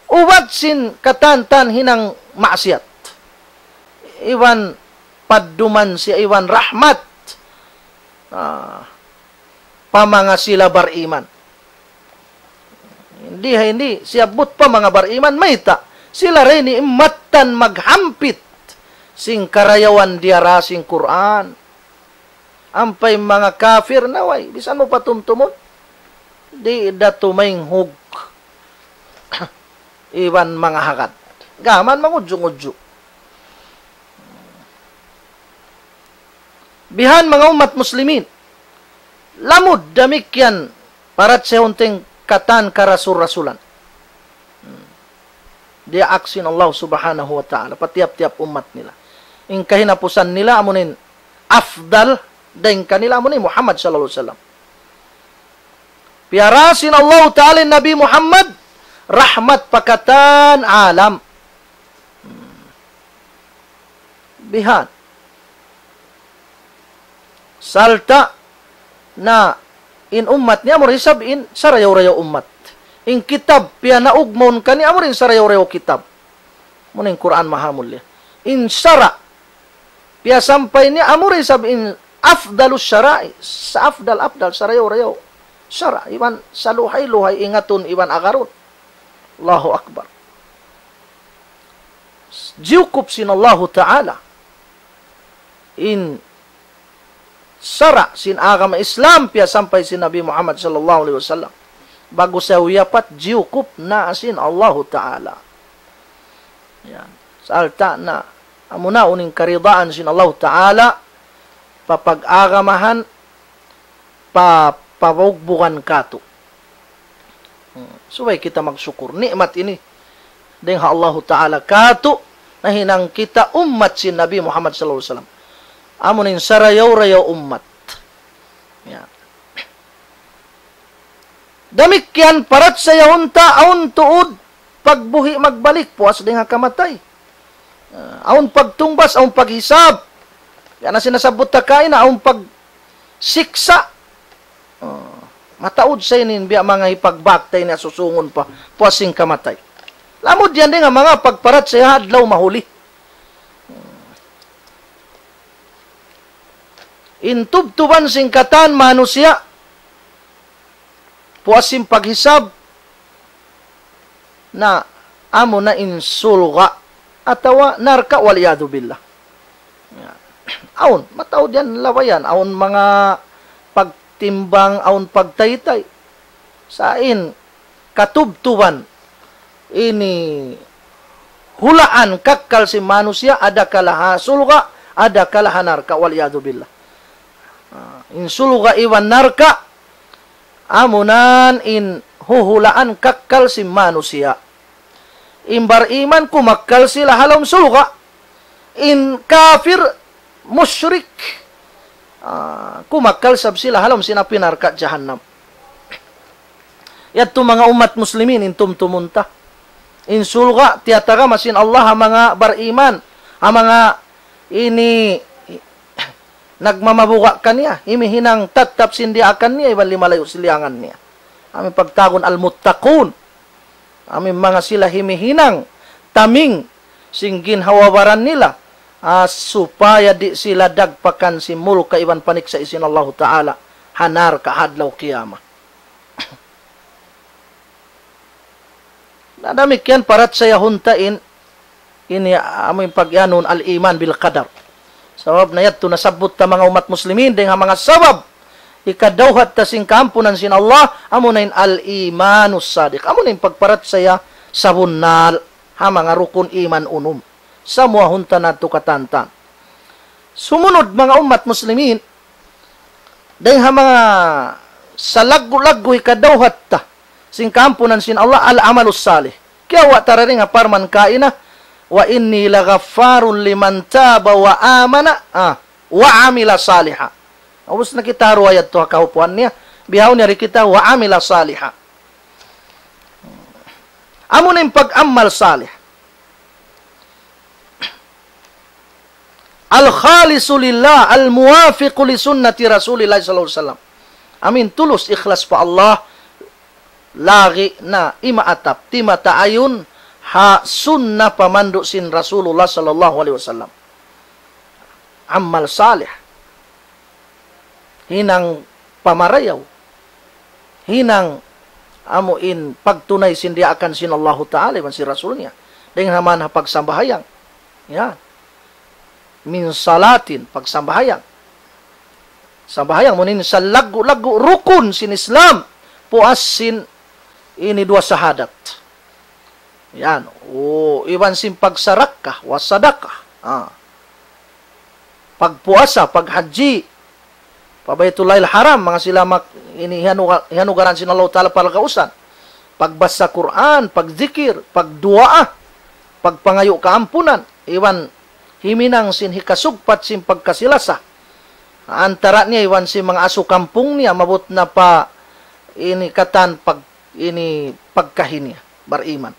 Ubat sin katan-katan hinang maksiyat. Iban padduman siya iban rahmat. Ah, pa manga sila bariman. Di' ha ini siyabbut pa manga bariman, mayta'? Sila ra ini in mattan maghampit sin karayawan diyara sin Qur'an. Ampa in manga kafir na way, bisan mu patumtumun, di' da tumaynghug iban manga hagad. Gam mangudju'-ngudju'. Bihan manga ummat muslimin. Lamud damikkiyan parachayahun ta in katan karasul-rasulan. Hmm. Diyaak sin Allah Subhanahu wa Ta'ala pa tiyap-tiyap ummat nila. In kahinapusan nila amuin afdal dayng kanila amuin Muhammad sallallahu alayhi wasallam. Piyara sin Allah Ta'ala in Nabi Muhammad rahmat pa katan alam. Hmm. Bihan. Sarta' na in ummat niya amu ra isab in sarayaw-rayaw ummat. In kitab piyanaug mawn kaniya amu ra in sarayaw-rayaw kitab. Amu in Qur'an mahamulliya. In sara' piyasampay niya amu ra isab in afdalus sara'i, sa-afdal-afdal, sarayaw-rayaw sara', iban saluhay-luhay ingatun iban agarun. Allahu Akbar. Jiyukup sin Allahu Ta'ala in sara' sin agama Islam piyasampay sin Nabi Muhammad sallallahu alayhi wasallam. Ba'gu siya wiyapat, jiyukup na sin Allahu Ta'ala. Yan. Sarta' na, amuna in karidaan sin Allahu Ta'ala pa pag-agamahan, pa, pa bugbugan katu'. Hmm, subay kita magsukur. Ni'mat ini dayng ha Allahu Ta'ala katu', nahinang kita ummat sin Nabi Muhammad sallallahu alayhi wasallam. Amu in sarayaw-rayaw ummat. Ya. Damikkiyan parachayahun ta awn tuud pagbuhi' magbalik, puas dayng ha kamatay. Ah, awn pagtungbas, awn paghisab. Yan na sinasabbut ta kaina, awn pagsiksa'. Ah, mataud sa ini in biya' manga hipagbak ta ini ha susungun pa, puas sin kamatay. Lamud yan dayng ha manga pagparachaya ha adlaw mahuli. In tubtuban sin katan manusiya', puas sin paghisab, na amuna in surga' atawa narka', wal iyadhu billah. Ya. Awn, mataud yan labayan, awn manga pagtimbang, awn pagtaytay. Sa' in katubtuban ini hulaan kakkal sin manusiya', adakala ha surga', adakala ha narka', wal iyadhu billah. Ah, in surga' iban narka', amunan in huhulaan kakkal sin manusiya'. In bariman kumakkal sila ha lawm surga'. In kafir, mushrik, ah, kumakkal isab sila ha lawm sin api narka' jahannam. Yadtu manga ummat muslimin in tumtumun ta. In surga' tiyatagama sin Allah ha manga bariman, ha manga ini nagmamabuga' kaniya, himihinang tattap sin diyaakan niya, iban limalayu' sin liyangan niya. Amu in pagtawagun al-muttaqun. Amu in manga sila himihinang taming sin ginhawa-baran nila. ah, supaya di' sila dagpakan sin murka iban paniksa' sin Allahu Ta'ala ha narka' ha adlaw qiyamah. Na damikkiyan parachayahun ta in, ini amu in pag-iyanun al-iman bil qadar. Sabab na yadtu nasabbut ta manga ummat muslimin dayn ha manga sabab hikadawhat ta sin kaampunan sin Allah, amu na in al-imanus sadiq. Amu na in pagparachaya sabunnal ha manga rukun iman unum. Samuwahun ta na tu katantan. Sumunud manga ummat muslimin, dayn ha manga salaggu'-laggu' hikadawhat ta sin kaampunan sin Allah, al-amalus salih. Kiyawa' ta dayn ha parman kaina, "Wa inni laghaffarun liman taba wa amana, ah, wa amila saliha." Ubus na kita ruwayat tu ha kahupuan niya, bihaun niya di kita, "Wa amila saliha." Amu na in pag-amal salih. Al-khalisu lillah, al-muwafiqu li sunnati Rasulillah sallallahu alaihi wasallam. Amu in tulus ikhlas pa Allah, lagi' na imaatap, timataayun ha sunna pamandu' sin Rasulullah sallallahu alaihi wasallam. Amal salih. Hinang pamarayaw. Hinang amu in pagtunay sin diyaakan sin Allahu Ta'ala iban sin Rasul niya. Dayn ha manga pagsambahayang. Ya. Min salatin, pagsambahayang. Sambahayang, amu in salaggu'-laggu' rukun sin Islam. Puas sin ini duwa sahadat. Yan. O, iban sin pagsarakka, wa sadaqah. Ah. Pagpuasa, paghajji, pa Baitullahil Haram, manga sila mak-, ini hiyanuga-, hiyanugaran sin Allahu Ta'ala palagausan. Pagbasa Qur'an, pagzikir, pagduwaa, pagpangayu' kaampunan, iban himinang sin hikasugpat sin pagkasi-lasa. Antara niya iban sin manga asu kampung niya, maabut na pa ini katan pag-, ini pagkahi niya, bariman.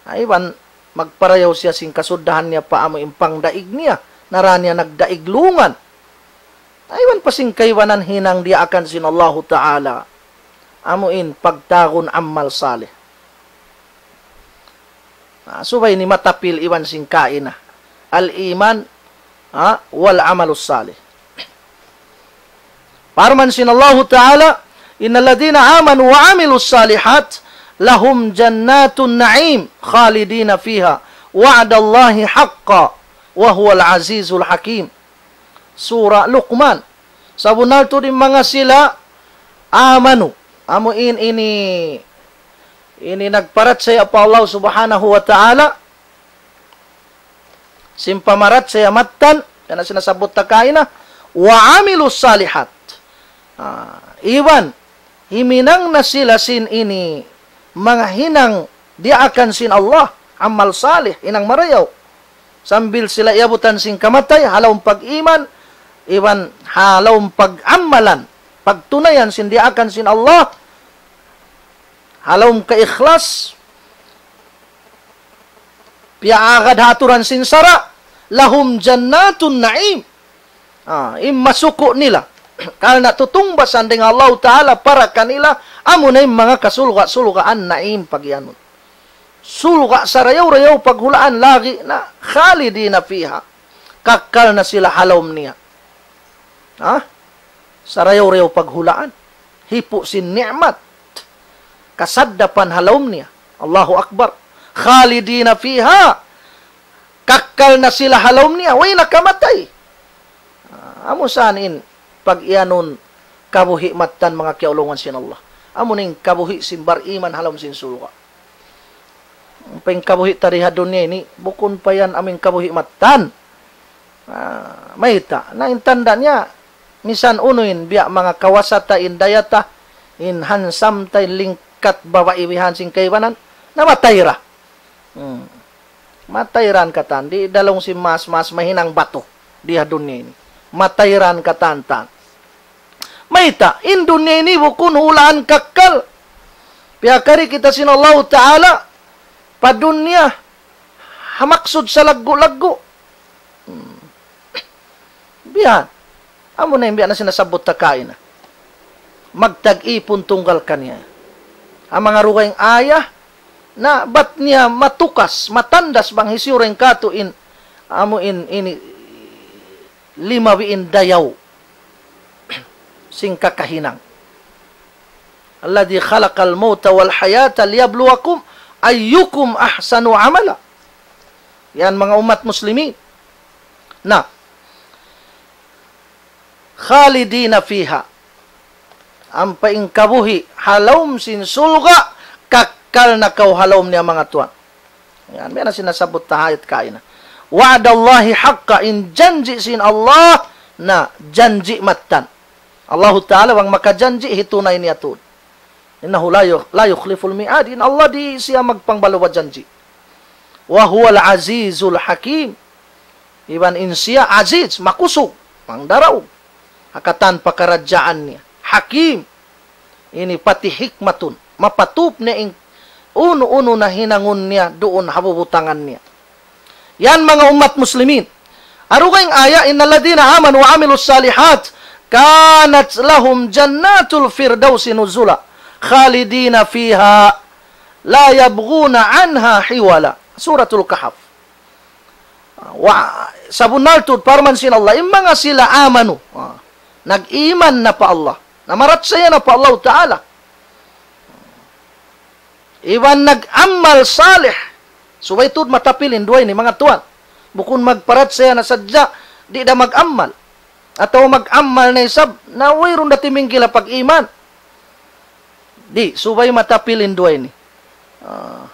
Na iban magparayaw siya sin kasuddahan niya pa amu in pangdaig niya, na ra niya nagdaig lungan. Na iban pa sin kaibanan hinang diyaakan sin Allahu Ta'ala. Amu in pagtawagun amal salih. Na, subay ini matapil iban sin kaina. Al-iman, ha, wal amalus salih. Parman sin Allahu Ta'ala, "Innal ladhina amanu wa amilus salihat lahum jannatun na'im khalidina fiha wa'dallahi haqqa wa huwal azizul hakim." Surah Luqman. Sabunnal tuud in manga sila amanu. Amu in ini, ini nagparachaya pa Allah Subhanahu wa Ta'ala. Sin pamarachaya mattan, yan na sin nasabbut ta kaina, wa amilus salihat. Ah, iban, himinang na sila sin ini, manga hinang diyaakan sin Allah, amal salih, hinang marayaw. Sambil sila iyabutan sin kamatay, ha lawm pag-iman, iban ha lawm pag-amalan, pagtunayan sin diyaakan sin Allah, ha lawm kaikhlas, piyaagad ha aturan sin sara', lahum jannatun na'im. Ah, in masuku' nila. Karna' tutungbasan dayn ha Allahu Ta'ala para kanila, amu na in manga kasulga'-sulgaan na'im pagiyanun. Sulga' sarayaw-rayaw paghulaan lagi' na khalidina fiha. Kakkal na sila ha lawm niya. Ha? Sarayaw-rayaw paghulaan. Hipu' sin ni'mat. Kasaddapan ha lawm niya. Allahu Akbar. Khalidina fiha. Kakkal na sila ha lawm niya. Way na kamatay. Ah, amu sa in pag-iyanun kabuhi' mattan manga kiyaulungan sin Allah. Amu na in kabuhi' sin bariman ha lawm sin surga'. Ampa in kabuhi' ta di ha dunya ini, bukun pa yan amu in kabuhi' mattan. Ah, mayta'. Na in tanda' niya, misan unu in, biya' manga kawasa ta in daya ta, in handsome ta in lingkat babai bihan sin kaibanan, namatay ra. Hmm. Matay ra in katan, di' da laung sin mas-mas mahinang batu di ha dunya ini. Matay ra in katan ta. Mayta', in dunya ini bukun hulaan kakkal. Piyakari kita sin Allahu Ta'ala pa dunya ha maksud salaggu'-laggu'. Hmm. Biya' amu na in biya' na sin nasabbut ta kaina. Magtag-ipun tunggal kaniya. Amu in manga dugaing ayah, na bat niya matukas, matandas bang hisiyu dayn kātu' in amu in ini lima wiin dayaw sin kakahinang. الذي خلق الموت والحياة ليبلوكم أيكم أحسن عملا. Yan manga ummat muslimin. Na, خالدين فيها. Ampa in kabuhi' ha lawm sin surga', kakkal na kaw ha lawm niya manga tuwan. Yan, biya' na sin nasabbut ta ha ayat kaina. وعد الله حقا, in janji' sin Allah, na janji' mattan. Allahu Ta'ala bang makajanji', hitunay niya tuud. إنه لا يخ-، لا يخلف الميعاد. In Allah di' siya magpangbaluwa janji'. وهو العزيز الحكيم. Iban in siya aziz, makusug, mangdaraug. Ha katan pakaradjaan niya. Hakim. Ini pati hikmatun. Mapatup niya in unu-unu na hinangun niya duun ha bubutangan niya. Yan manga ummat muslimin. Arugaing aya, إن الذين آمنوا وعملوا الصالحات كانت لهم جنات الفردوس نزلا خالدين فيها لا يبغون عنها حولا. Suratul Kahf. Wa, sabunnal tuud parman sin Allah, in manga sila amanu, ah, nag-iman na pa Allah, namarachaya na pa Allah Ta'ala. Iban nag-amal salih. Subay tuud matapil in duwa ini, manga tuwan. Bukun magparachaya na sadja, di' da mag-amal. Atawa mag-amal na isab, na wayruun da timingkila pag-iman. Di', subay matapil in duwa ini. Ah,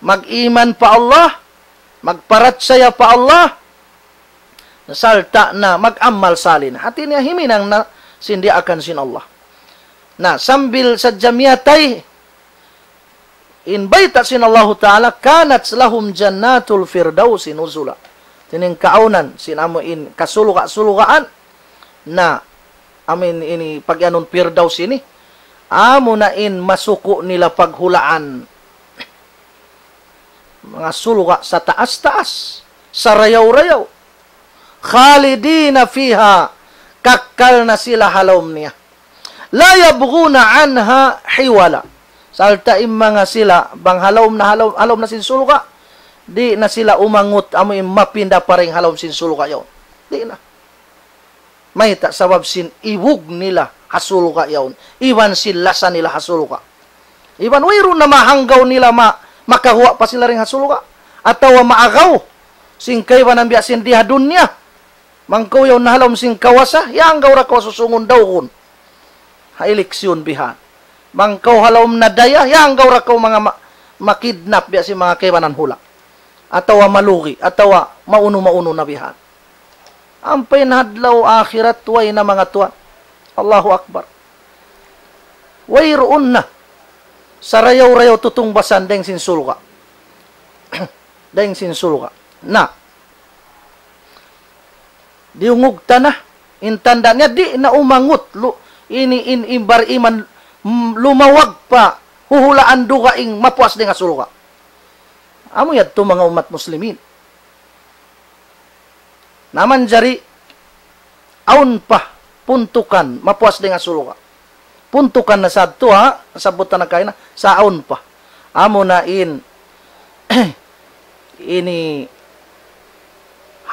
mag-iman pa Allah, magparachaya pa Allah, sarta' na mag-amal salih na. Hati niya himinang na sin diyaakan sin Allah. Na sambil sadja miyatay, in bayta' sin Allahu Ta'ala, كانت لهم جنات الفردوس نزلا. Hati niya in kaawnan, sin amu in kasulga'-sulgaan, na, amu in ini pag-iyanun Firdaus ini, amu na in masuku' nila paghulaan. Manga surga' sataas-taas, sarayaw-rayaw. خالدين فيها, kakkal na sila ha lawm niya. لا يبغون عنها حولا. Sarta' in manga sila, bang ha lawm na, ha lawm, ha lawm na sin surga', di' na sila umangut, amu in mapinda pa dayn ha lawm sin surga' yaun. Di' na. Mayta'? Sabab sin ibug nila ha surga' yaun. Iban sin lasa nila ha surga'. Iban wayruun na mahanggaw nila ma-, makaguwa' pa sila dayn ha surga'. Atawa maagaw sin kaibanan biya' sin di ha dunya. Bang kaw yaun na ha lawm sin kawasa, hiyanggaw da kaw susungun dawgun. Ha eleksyon bihan. Bang kaw ha lawm na daya, hiyanggaw da kaw manga ma-, makidnap biya' sin manga kaibanan hula'. Atawa malugi, atawa maunu-maunu na bihan. Ampa in ha adlaw akhirat, way na, manga tuwan. Allahu Akbar. Wayruun na. Sarayaw-rayaw tutungbasan dayn sin surga'. Dayn sin surga'. Na. Diyungug ta na. In tanda' niya di' na umangut. Lu-, ini in, in bariman, mm, lumawag pa huhulaan dugaing mapuas dayn ha surga'. Amu yadtu, manga ummat muslimin. Na manjari, awn pa puntukan mapuas dayn ha surga'. Puntukan na sadtu, ha, sabutan na kaina, sa' awn pa. Amu na in, ini,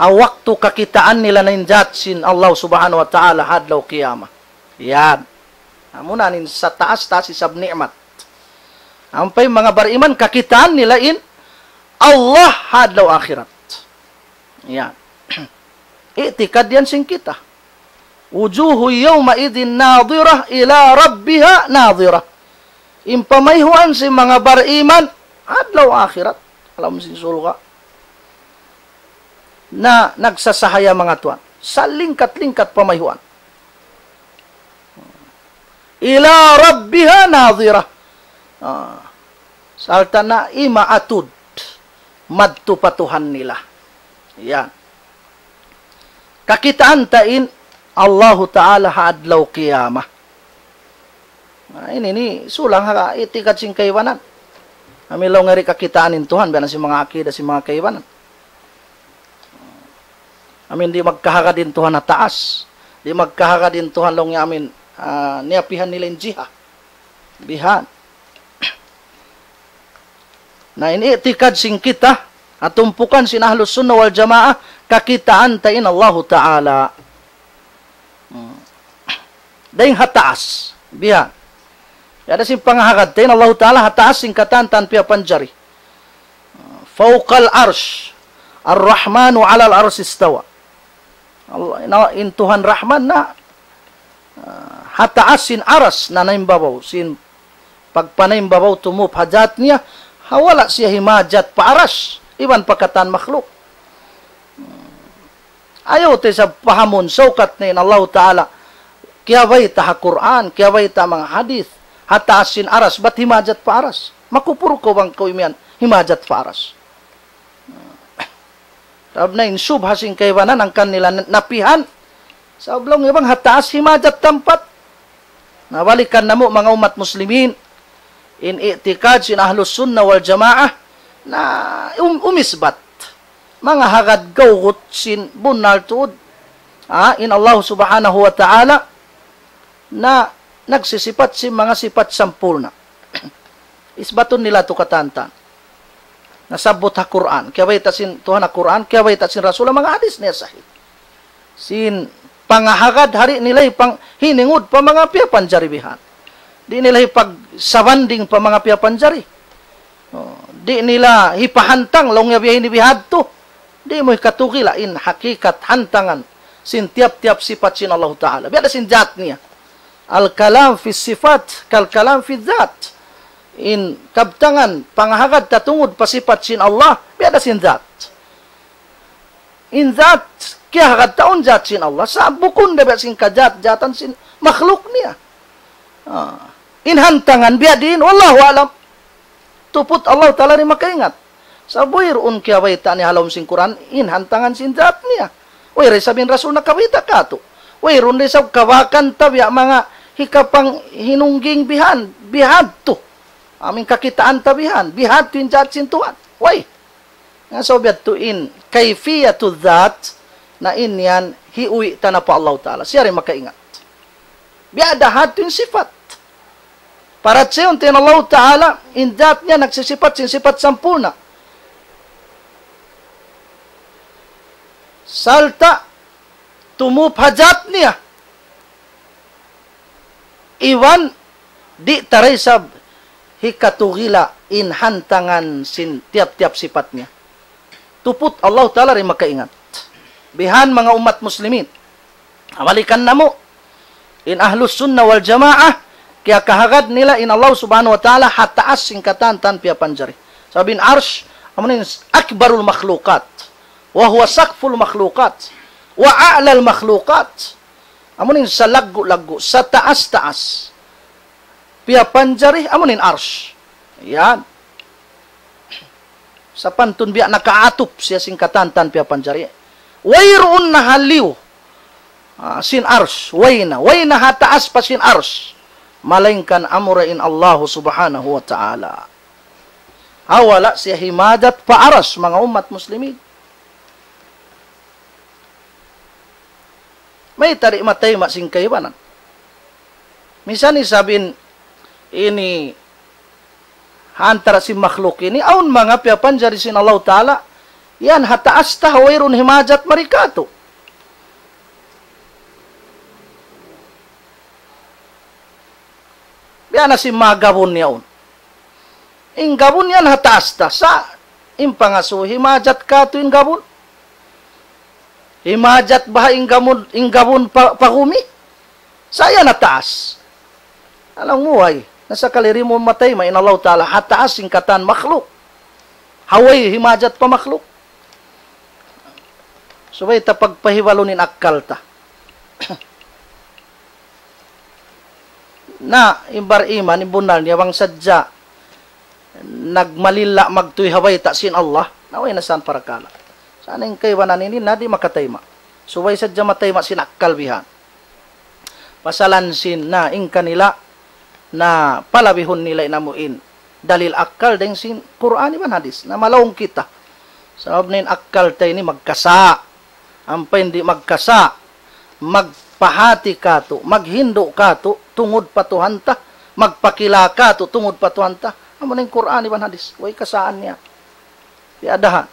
ha waktu kakitaan nila na in jat sin Allah Subhanahu wa Ta'ala ha adlaw qiyamah. Yan. Amu na in sataas-taas isab ni'mat. Ampa in manga bariman kakitaan nila in Allah ha adlaw akhirat. Yan. I'tikad yan sin kita. وجوه يومئذ ناضرة إلى ربها ناظرة. In pamayhuan sin manga bariman, adlaw akhirat, ha lawm sin surga'. Na nagsasahaya, manga tuwan. Salingkat-lingkat pamayhuan. إلى ربها ناظرة. Ah. Sarta' na imaatud madtu pa Tuhan nila. Yan. Kakitaan ta in Allahu Ta'ala ha adlaw qiyamah. Na, ini, ini sulang ha i'tikad sin kaibanan. Amu in laung niya di' kakitaan in Tuhan, biya' na sin manga akida sin manga kaibanan. Amu in di' magkahagad in Tuhan ha taas. Di' magkahagad in Tuhan laung niya amu in, ah, niyapihan nila in jiha. Bihan. Na in i'tikad sin kita, Katumpukan sin Ahlus Sunnah wal Jamaah, kakitaan ta in Allahu Ta'ala. Hmm. Dayn ha taas. Biya'. Biya' da sin pangahagad ta in Allahu Ta'ala ha taas sin katan-katan piyapanjari. فوق العرش. الرحمن على العرش استوى. Allah, na, in Tuhan Rahman na, ah, ha taas sin aras na naimbabaw, sin pagpanaimbabaw tumup ha jat niya, ha wala' siya himajat pa aras, iban pa katan makhluk. Ayaw ta isab pahamun, saukat na in Allahu Ta'ala, kiyabayta' ha Qur'an, kiyabayta' manga hadith, ha taas sin aras, bat himajat pa aras. Makupur kaw bang kaw imiyan, himajat pa aras. Sabab na in subha sin kaibanan hangkan nila napihan. Sabab laung niya bang ha taas himajat tampat. Na balikan namu' manga ummat muslimin. In i'tikad sin Ahlus Sunnah wal Jamaah. Na um, umisbat. Manga hagad gawgut sin bunnal tuud. Ha, in Allah Subhanahu wa Ta'ala. Na nagsisipat sin manga sipat sampurna'. Isbatun nila tu katan-katan. Nasabbut ha Qur'an. Kiyabayta' sin Tuhan ha Qur'an, kiyabayta' sin Rasul ha manga hadith niya sahih. Sin pangahagad ha di' nila hipang hiningud pa manga piyapanjari bihan. Di' nila hipagsabanding pa manga piyapanjari. Oh, di' nila hipahantang laung niya biya' ini bihadtu. Di' mu hikatugila in hakikat hantangan sin tiyap-tiyap sipat sin Allahu Ta'ala. Biya' da sin jat niya. الكلام في الصفات كالكلام في الذات. In kabtangan pangahagad ta tungud pa sipat sin Allah, biya' da sin jat. In jat, kiyahagad ta awn jat sin Allah. Sa' bukun da biya' sin kajat-jatan sin makhluk niya. Ah. In hantangan biya' diin, wallahu a'lam. Tuput Allah Ta'ala di' makaingat. Sa' wayruun kiyabayta' niya ha lawm sin Qur'an, in hantangan sin jat niya. Way da isab in Rasul nakabayta' katu'. Wayruun da isab kabakan ta biya' manga hikapanghinungging bihan, bihadtu. Amu in kakitaan ta bihan, bihadtu in jat sin Tuhan. Way. Nga sa' biya' tu in kayfiyatu dhat, na in yan hiuwi' ta na pa Allah Ta'ala. Siya da in makaingat. Biya' da hadtu in sipat. Parachayahun ta in Allah Ta'ala, in jat niya nagsisipat sin sipat sampurna'. Sarta' tumup ha jat niya. Iban di' ta da isab hikatugila in hantangan sin tiyap-tiyap sipat niya. Tuput Allah Ta'ala da in makaingat. Bihan manga ummat muslimin. Balikan namu', in Ahlus Sunnah wal Jamaah, kiyakahagad nila in Allah Subhanahu wa Ta'ala ha taas sin katan-katan piyapanjari. Sabab in Arsh, amu in akbarul makhlukat, wa huwa saqful makhlukat, wa a'lal makhlukat. Amu in salaggu'-laggu', sataas-taas piyapanjari, amu in Arsh. Yan. Sapantun biya' nakaatup siya sin katan-katan piyapanjari. Wayruun na ha liyu, ah, sin Arsh. Way na. Way na ha taas pa sin Arsh. Malaingkan amura in Allah Subhanahu wa Ta'ala. Ha wala' siya himajat pa Arsh, manga ummat muslimin. Mayta' di' matayma' sin kaibanan. Misan isab in ini ha antara sin makhluk ini, awn manga piyapanjari sin Allah Ta'ala, yan ha taas ta, wayruun himajat mari katu'. Biya' na sin manga gabun yaun. In gabun yan ha taas ta. Sa' in pangasubu, himajat katu' in gabun. Himajat baha' in gabun, in gabun pa, pa gumi. Sa' yan ha taas. Alam mu, way. Na sakali di' mu matayma' in Allah Ta'ala ha taas sin katan makhluk. Ha way himajat pa makhluk. Subay ta pagpahibalun in akkal ta. Na, in bar-iman, in bunnal niya, bang sadja nagmalilla' magtuy ha bayta' sin Allah, na way na san parakala'. Sa' in kaibanan ini, na di' makatayma'. Subay sadja matayma' sin akkal bihan. Pasalan sin, na, in kanila, na palabihun nila in amu in dalil akkal dayn sin Qur'an iban hadith. Na malaung kita. Sabab na in akkal ta ini magkasa'. Ampa in di' magkasa', magpahāti kātu', maghindu' kātu', tungud pa Tuhan ta, magpakila kātu', tungud pa Tuhan ta. Amu na in Qur'an iban hadith, way kasaan niya. Tiadahan.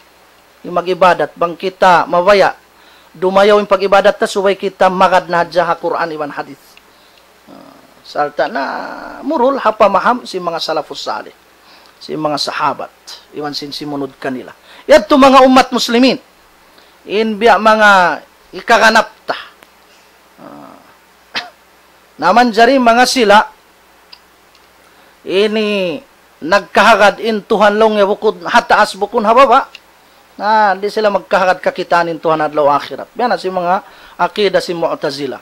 In mag-ibadat, bang kita mabaya', dumayaw in pag-ibadat ta, subay kita magad na hadja ha Qur'an iban hadith. Ah, sarta' na murul ha pamaham sin manga salafus salih, sin manga sahabat, iban sin simunud kanila. Yadtu manga ummat muslimin, in biya' manga ikaganap ta. Ah, na manjari manga sila, ini nagkahagad in Tuhan laung niya bukun ha taas bukun ha baba'. Na, di' sila magkahagad kakitaan in Tuhan adlaw akhirat. Biya' na sin manga akida sin Mu'tazila.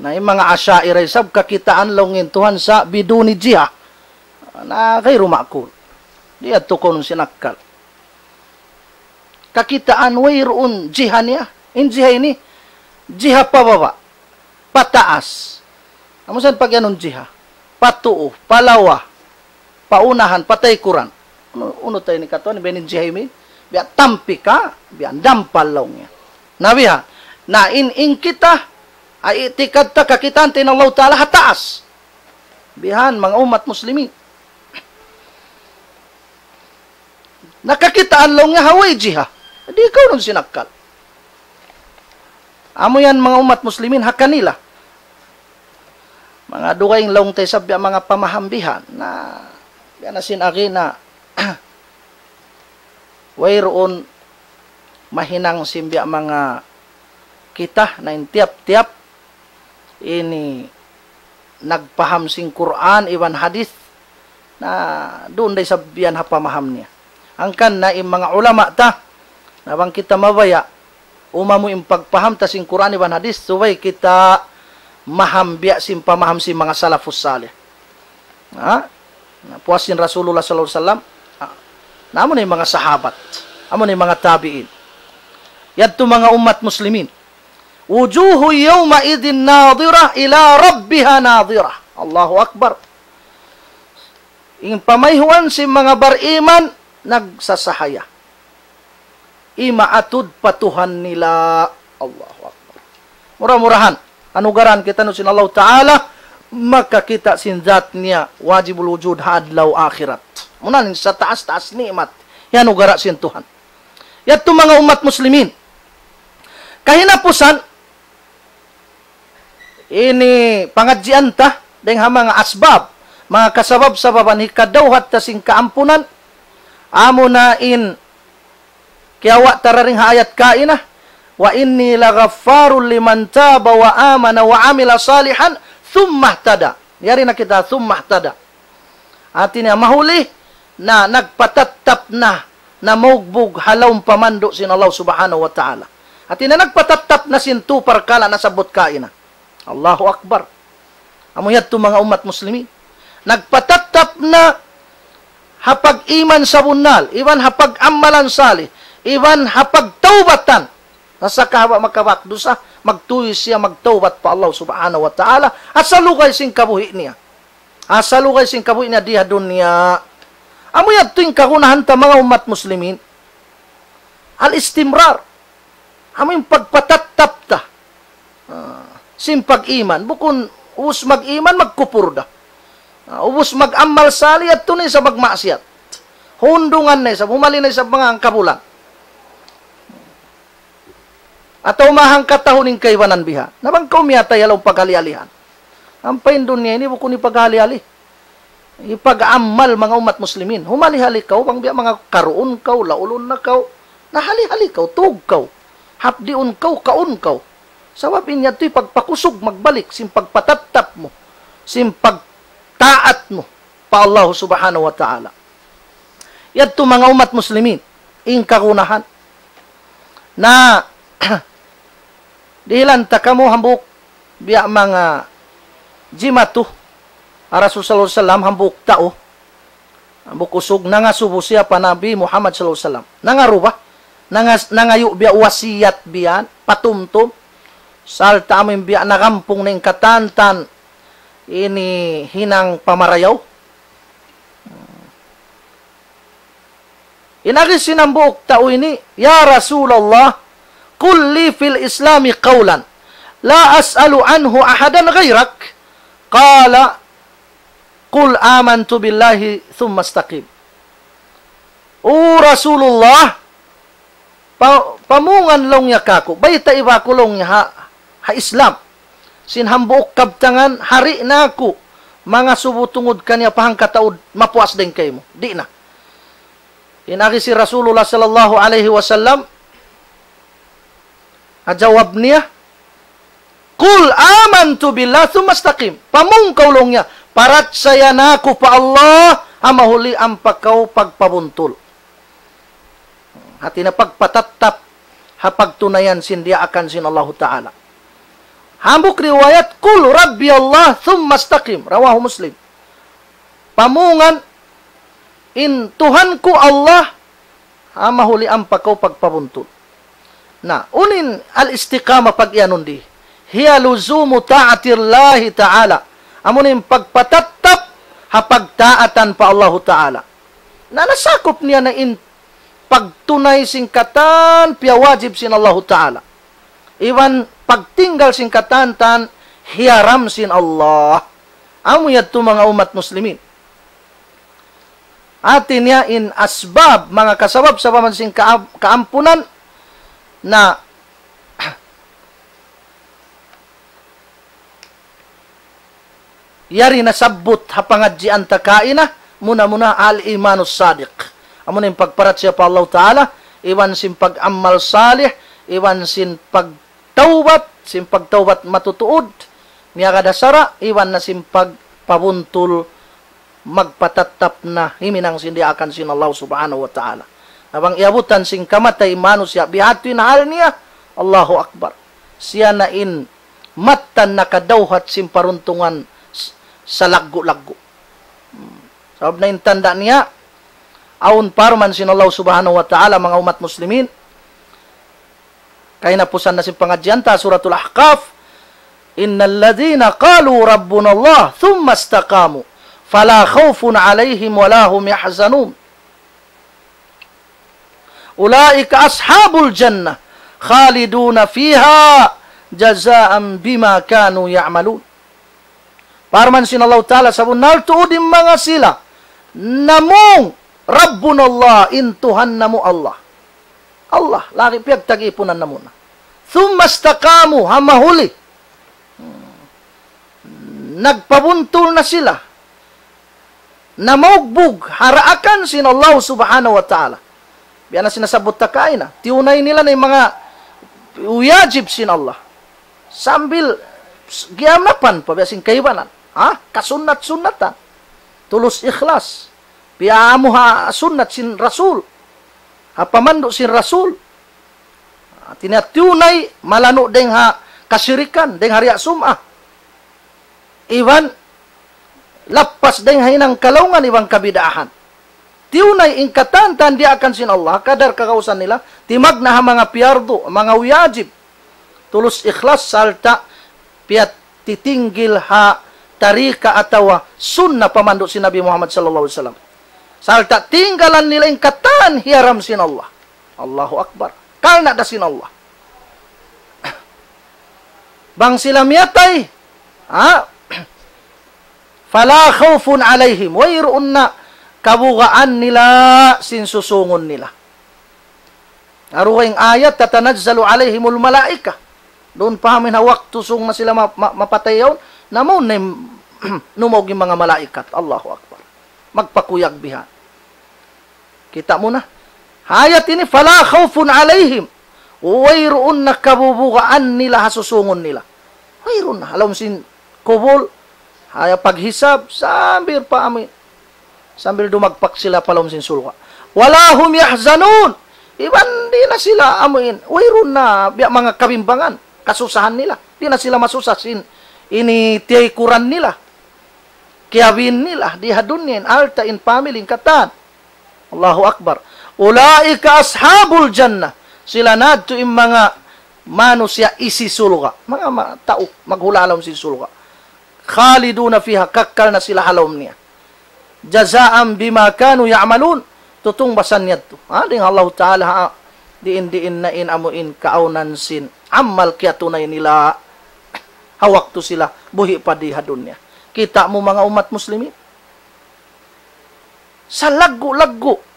Na, in manga Asha'ira isab kakitaan laung in Tuhan sa' biduni jiha. Na, ghayru ma'qul. Di' yadtu kawnun sin akkal. Kakitaan wayruun jiha niya. In jiha ini, jiha pa baba', pa taas. Amu sa in pag-iyanun jiha? Pa tuu, pa lawa, pa unahan, pa taykuran. Unu, unu ta ini katuan, biya' ini in jiha ini, biya' tampi ka, biya' dampal laung niya. Na biha, na in, in kita, ay itikad ta kakitaan ta in Allah Ta'ala ha taas. Bihan, manga ummat muslimin. Na kakitaan laung niya ha way jiha. Di' kawnun sin akkal. Amu yan manga ummat muslimin ha kanila. Manga dugaing laung ta isab biya' manga pamaham bihan. Na, biya' na sin agi na, wayruun mahinang sin biya' manga kita na in tiyap-tiyap ini nagpaham sin Qur'an iban hadith, na duun da isab yan ha pamaham niya. Hangkan na in manga ulama ta, na bang kita mabaya', umamu in pagpaham ta sin Qur'an iban hadith, subay kita maham biya' sin pamaham sin manga salafus salih. Ha? Na puas sin Rasulullah sallallahu alayhi wasallam, ha? Na amu na in manga sahabat, amu na in manga tabi'in. Yadtu manga ummat muslimin. وجوه يومئذ ناضرة إلى ربها ناظرة. Allahu Akbar. In pamayhuan sin manga bariman nagsasahaya. Imaatud pa Tuhan nila. Allahu Akbar. Mura-murahan, anugarahan kitaniyu sin Allah Ta'ala, makakita' sin zat niya, wajibul wujud ha adlaw akhirat. Muna in sataas-taas ni'mat, iyanugara sin Tuhan. Yadtu manga ummat muslimin. Kahinapusan, ini pangadjian ta, dayng ha manga asbab, manga kasabab-sababan hikadawhat ta sin kaampunan, amuna in kiyawa' ta dayn ha ayat kaina, وإني لغفار لمن تاب وآمن وعمل صالحا ثم اهتدى. Yari na kita, ثم اهتدى. Hati niya mahuli na nagpatattap na, na maugbug ha lawm pamandu' sin Allah Subhanahu wa Ta'ala. Hati niya nagpatattap na sin tu parkala' nasabbut kaina. Allahu Akbar. Amu yadtu manga ummat muslimin. Nagpatattap na ha pag-iman sabunnal, iban ha pag-amalan salih, iban ha pagtawbatan. Na sakahaba' makabak dusa, magtuy siya magtawbat pa Allah Subhanahu wa Ta'ala, ha salugay sin kabuhi' niya. Ha salugay sin kabuhi' niya di ha dunya. Amu yadtu in kagunahan ta manga ummat muslimin. Al-istimrar. Amu in pagpatattap ta. Ah, sin pag-iman. Bukun ubus mag-iman, magkupur da. Ah, ubus mag-amal salih, yadtu na isab magmaksiyat. Hundungan na isab, humali na isab manga hangkabulan. Atawa mahangkatahun in kaibanan biha. Na bang kaw miyatay ha lawm paghali-halihan. Ampa in dunya ini bukun hipaghali-hali. Hipag-amal manga ummat muslimin. Humali-hali kaw, bang biya' manga karuun kaw, laulun na kaw. Na hali-hali kaw, tug kaw. Hapdiun kaw, kaun kaw. Sabab in yadtu hipagpakusug magbalik, sin pagpatattap mu, sin pagtaat mu pa Allah Subhanahu wa Ta'ala. Yadtu manga ummat muslimin, in kagunahan. Na, dihilan ta kamu hambuuk biya' manga jimatu, ha Rasul sallallahu alayhi wasallam hambuuk tau, hambuuk usug nangasubu siya pa Nabi Muhammad sallallahu alayhi wasallam. Nangaruba, nangas-, nangayu' biya' wasiyat biya' patumtum, sarta' amu in biya' nagampung na in katantan ini hinang pamarayaw. In agi sin hambuuk tau ini, يا رسول الله، قل لي في الإسلام قولا لا أسأل عنه أحدا غيرك. قال: قل آمنت بالله ثم استقم. O Rasulullah, pa, pamungan laung niya kāku', baytai ba aku laung niya ha, ha Islam. Sin hambuuk kabtangan, hari na aku, mangasubu tungud kaniya pa hangkataud, mapuas dayn kaymu. Di' na. In agi sin Rasulullah sallallahu alayhi wasallam, ha jawab niya, "قل آمنت بالله ثم استقم." Pamung kaw laung niya, parachaya na aku pa Allah, ha mahuli ampa kaw pagpabuntul. Hati niya pagpatattap ha pagtunayan sin diyaakan sin Allahu Ta'ala. Hambuuk riwayat, "قل ربي الله ثم استقم." Rawahu Muslim. Pamungan, in Tuhan ku Allah, ha mahuli ampa kaw pagpabuntul. Na, unu in al-istiqamah pag-iyanun di? هي لزوم طاعة الله تعالى. Amu in pagpatattap ha pagtaatan pa Allahu Ta'ala. Na nasakup niya na in pagtunay sin katan piyawajib sin Allahu Ta'ala. Iban pagtinggal sin katan-katan hiyaram sin Allah. Amu yadtu manga ummat muslimin. Hati niya in asbab, manga kasabab-sababan sin kaam-, kaampunan na yari nasabbut ha pangadjian ta kaina, muna-muna al-imanus sadiq. Amu na in pagparachaya pa Allah Ta'ala, iban sin pag-amal salih, iban sin pagtawbat, sin pagtawbat matutuud, miyagad ha sara', iban na sin pagpabuntul magpatattap na himinang sin diyaakan sin Allah Subhanahu wa Ta'ala. Na bang iyabutan sin kamatay manusiya', bihadtu in hal niya, Allahu Akbar. Siya na in mattan nakadawhat sin paruntungan s-, salaggu'-laggu'. Hmm. Sabab na in tanda' niya, awn parman sin Allah Subhanahu wa Ta'ala, manga ummat muslimin, kahinapusan na sin pangadjian ta, Suratul Ahqaf, إن الذين قالوا ربنا الله ثم استقاموا فلا خوف عليهم ولا هم يحزنون أولئك أصحاب الجنة خالدون فيها جزاء بما كانوا يعملون. Parman sin Allah Ta'ala, sabunnal tuud in manga sila namung ربنا الله, in Tuhan namu' Allah. Allah, lagi' piyagtag-ipunan namu' na. ثم استقاموا, ha mahuli. Hmm. Nagpabuntul na sila. Namaugbug ha daakan sin Allah Subhanahu wa Ta'ala. Biya' na sin nasabbut ta kaina. Tiyunay nila na in manga wajib sin Allah. Sambil s-, giyanapan pa biya' sin kaibanan. Ha? Kasunnat-sunnatan. Tulus ikhlas. Piyaamu ha sunnat sin Rasul. Ha pamandu' sin Rasul. Hati niya tiyunay, malanu' dayng ha kasirikan, dayng ha riya' sum'ah. Iban lappas dayng ha hinang kalaungan iban kabid'ahan. Tiyunay in katan-katan diyaakan sin Allah, kadar kagausan nila, timagna' ha manga piyardu, manga wajib. Tulus ikhlas sarta' piyatitinggil ha tarika atawa sunna pamandu' sin Nabi Muhammad sallallahu alayhi wasallam. Sarta' tinggalan nila in katan hiyaram sin Allah. Allahu Akbar. Karna' da sin Allah. Bang sila miyatay, ha? فلا خوف عليهم. Wayruun na kabugaan nila sin susungun nila. Aru in ayat, تتنزل عليهم الملائكة. Duun pa amin ha waktu sung na sila ma-, ma-, mapatay yaun, namun na in numaug in manga malaikat. Allahu Akbar. Magpakuyag bihan. Kita' mu na. Ayat ini, فلا خوف عليهم. Wayruun na kabubugaan nila ha susungun nila. Wayruun na. Ha lawm sin kubul, ha paghisab, sambil pa amin. Sambil dumagpak sila pa lawm sin surga'. ولا هم يحزنون. Iban di' na sila amuin. Wayruun na biya' manga kabimbangan, kasusahan nila. Di' na sila masusa sin ini tiyaykuran nila. Kiyabin nila, di ha dunya in alta', in family, in katan. Allahu Akbar. أولئك أصحاب الجنة. Sila na yadtu in manga manusiya' isi surga'. Manga ma-, tau, maghula' ha lawm sin surga'. خالدون فيها, kakkal na sila ha lawm niya. جزاء بما كانوا يعملون. Tutungbasan niya yadtu. Ha, dayng Allahu Ta'ala, ha, diin-diin na in amuin kaawnan sin amal kiyatunay nila ha waktu sila buhi' pa di ha dunya. Kita' mu manga ummat muslimin. Salaggu'-laggu'.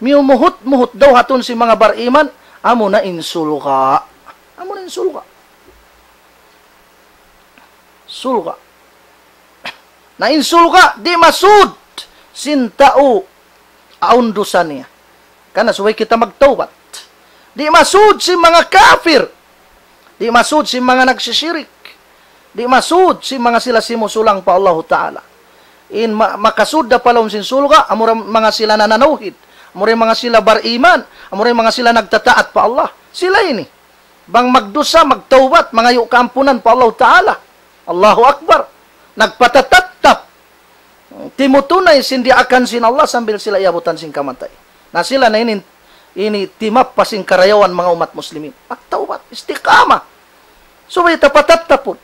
Miyumuhut-muhut daw hatun sin manga bariman, Amuna in surga'. Amuna in surga'. Surga'. Na in surga', di' masud sin tau awn dusa niya. Karna' subay kita magtawbat. Di' masud sin manga kafir. Di' masud sin manga nagsisirik. Di' masud sin manga sila simusulang pa Allahu Ta'ala. In ma-, makasud da pa lawm sin surga', amura manga sila nananawhid, amura manga sila bariman, amura manga sila nagtataat pa Allah. Sila ini. Bang magdusa, magtawbat, mangayu' kaampunan pa Allahu Ta'ala. Allahu Akbar. Nagpatatattap. Timutunay sin diyaakan sin Allah sambil sila iyabutan sin kamatay. Na sila na ini, ini timappa sin karayawan manga ummat muslimin. Magtawbat, istiqamah. Subay ta patattapun.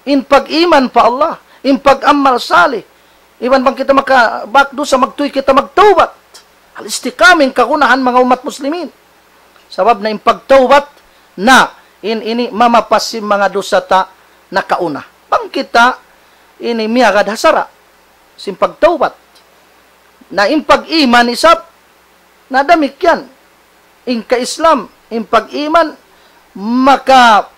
In pag-iman pa Allah, in pag-amal salih. Iban bang kita makabak dusa, magtuy kita magtawbat. Al-istiqamah in kagunahan manga ummat muslimin. Sabab na in pagtawbat na in ini mamapas sin manga dusa ta nakauna. Bang kita ini miyagad ha sara' sin pagtawbat. Na in pag-iman isab, na damikkiyan. In ka-Islam, in pag-iman, makapapas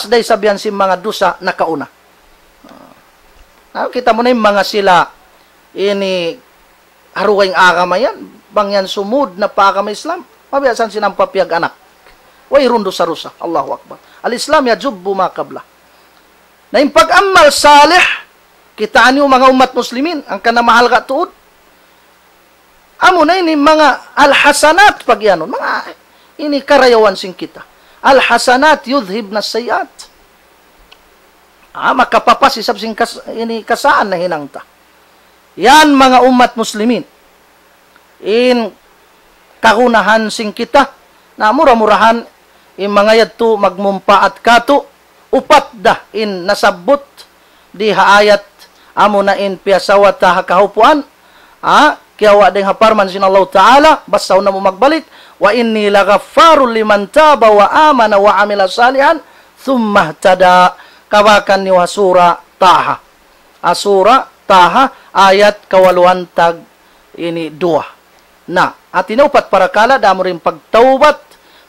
da isab yan sin manga dusa nakauna. Na kita' mu na in manga sila ini ha dugaing agama yan, bang yan sumud na pa agama Islam, mabiyasan sin ampa piyag-anak. Wayruun dusa-dusa. Allahu Akbar. Al-Islam yajubbu ma qabla. Na in pag-amal salih, kitaa niyu manga ummat muslimin, hangkan na mahalga' tuud. Amuna ini manga al-hasanat pag-iyanun. Manga ini karayawan sin kita. Al-hasanat yudhhibna sayyi'at. Ah, makapapas isab sin kas-, ini kasaan na hinang ta. Yan manga ummat muslimin. In kagunahan sin kita, na mura-murahan in manga yadtu magmumpaat katu', upat da in nasabbut di ha ayat amuna in piyasawa ta ha kahupuan, ha, kiyawa' dayng ha parman sin Allahu Ta'ala, basahun namu' magbalik, وإني لغفار لمن تاب وآمن وعمل صالحا ثم اهتدى. Kabakan niyu ha Sura Taha. Ha Sura Taha, ayat kawaluan tag ini duwa. Na, hati niya upat parakala', da amu in pagtawbat,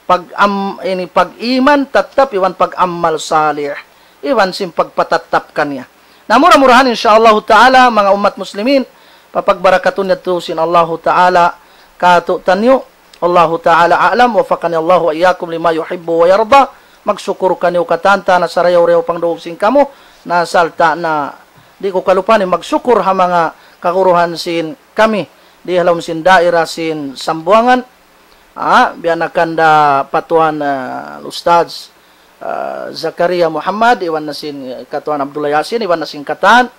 pag-am-, ini pag-iman, tattap, iban pag-amal salih, iban sin pagpatattap kaniya. Na mura-murahan, insya Allahu Ta'ala, manga ummat muslimin, papagbarakatun yadtu sin Allahu Ta'ala katu'taniyu. Allahu Ta'ala a'lam, وفقني الله وإياكم لما يحب ويرضى. Magsukur kaniyu katan-katan ha sarayaw-rayaw pangdungug sin kamu, na sarta' na di' ku kalupahan magsukur ha manga kaguruhan sin kami di ha lawm sin daira sin Sambuwangan. Ah, biya' na kanda patuan, ah, Ustadz, ah, Zakaria Muhammad, iban na sin, eh, katuan Abdullah Yasin, iban na sin katan,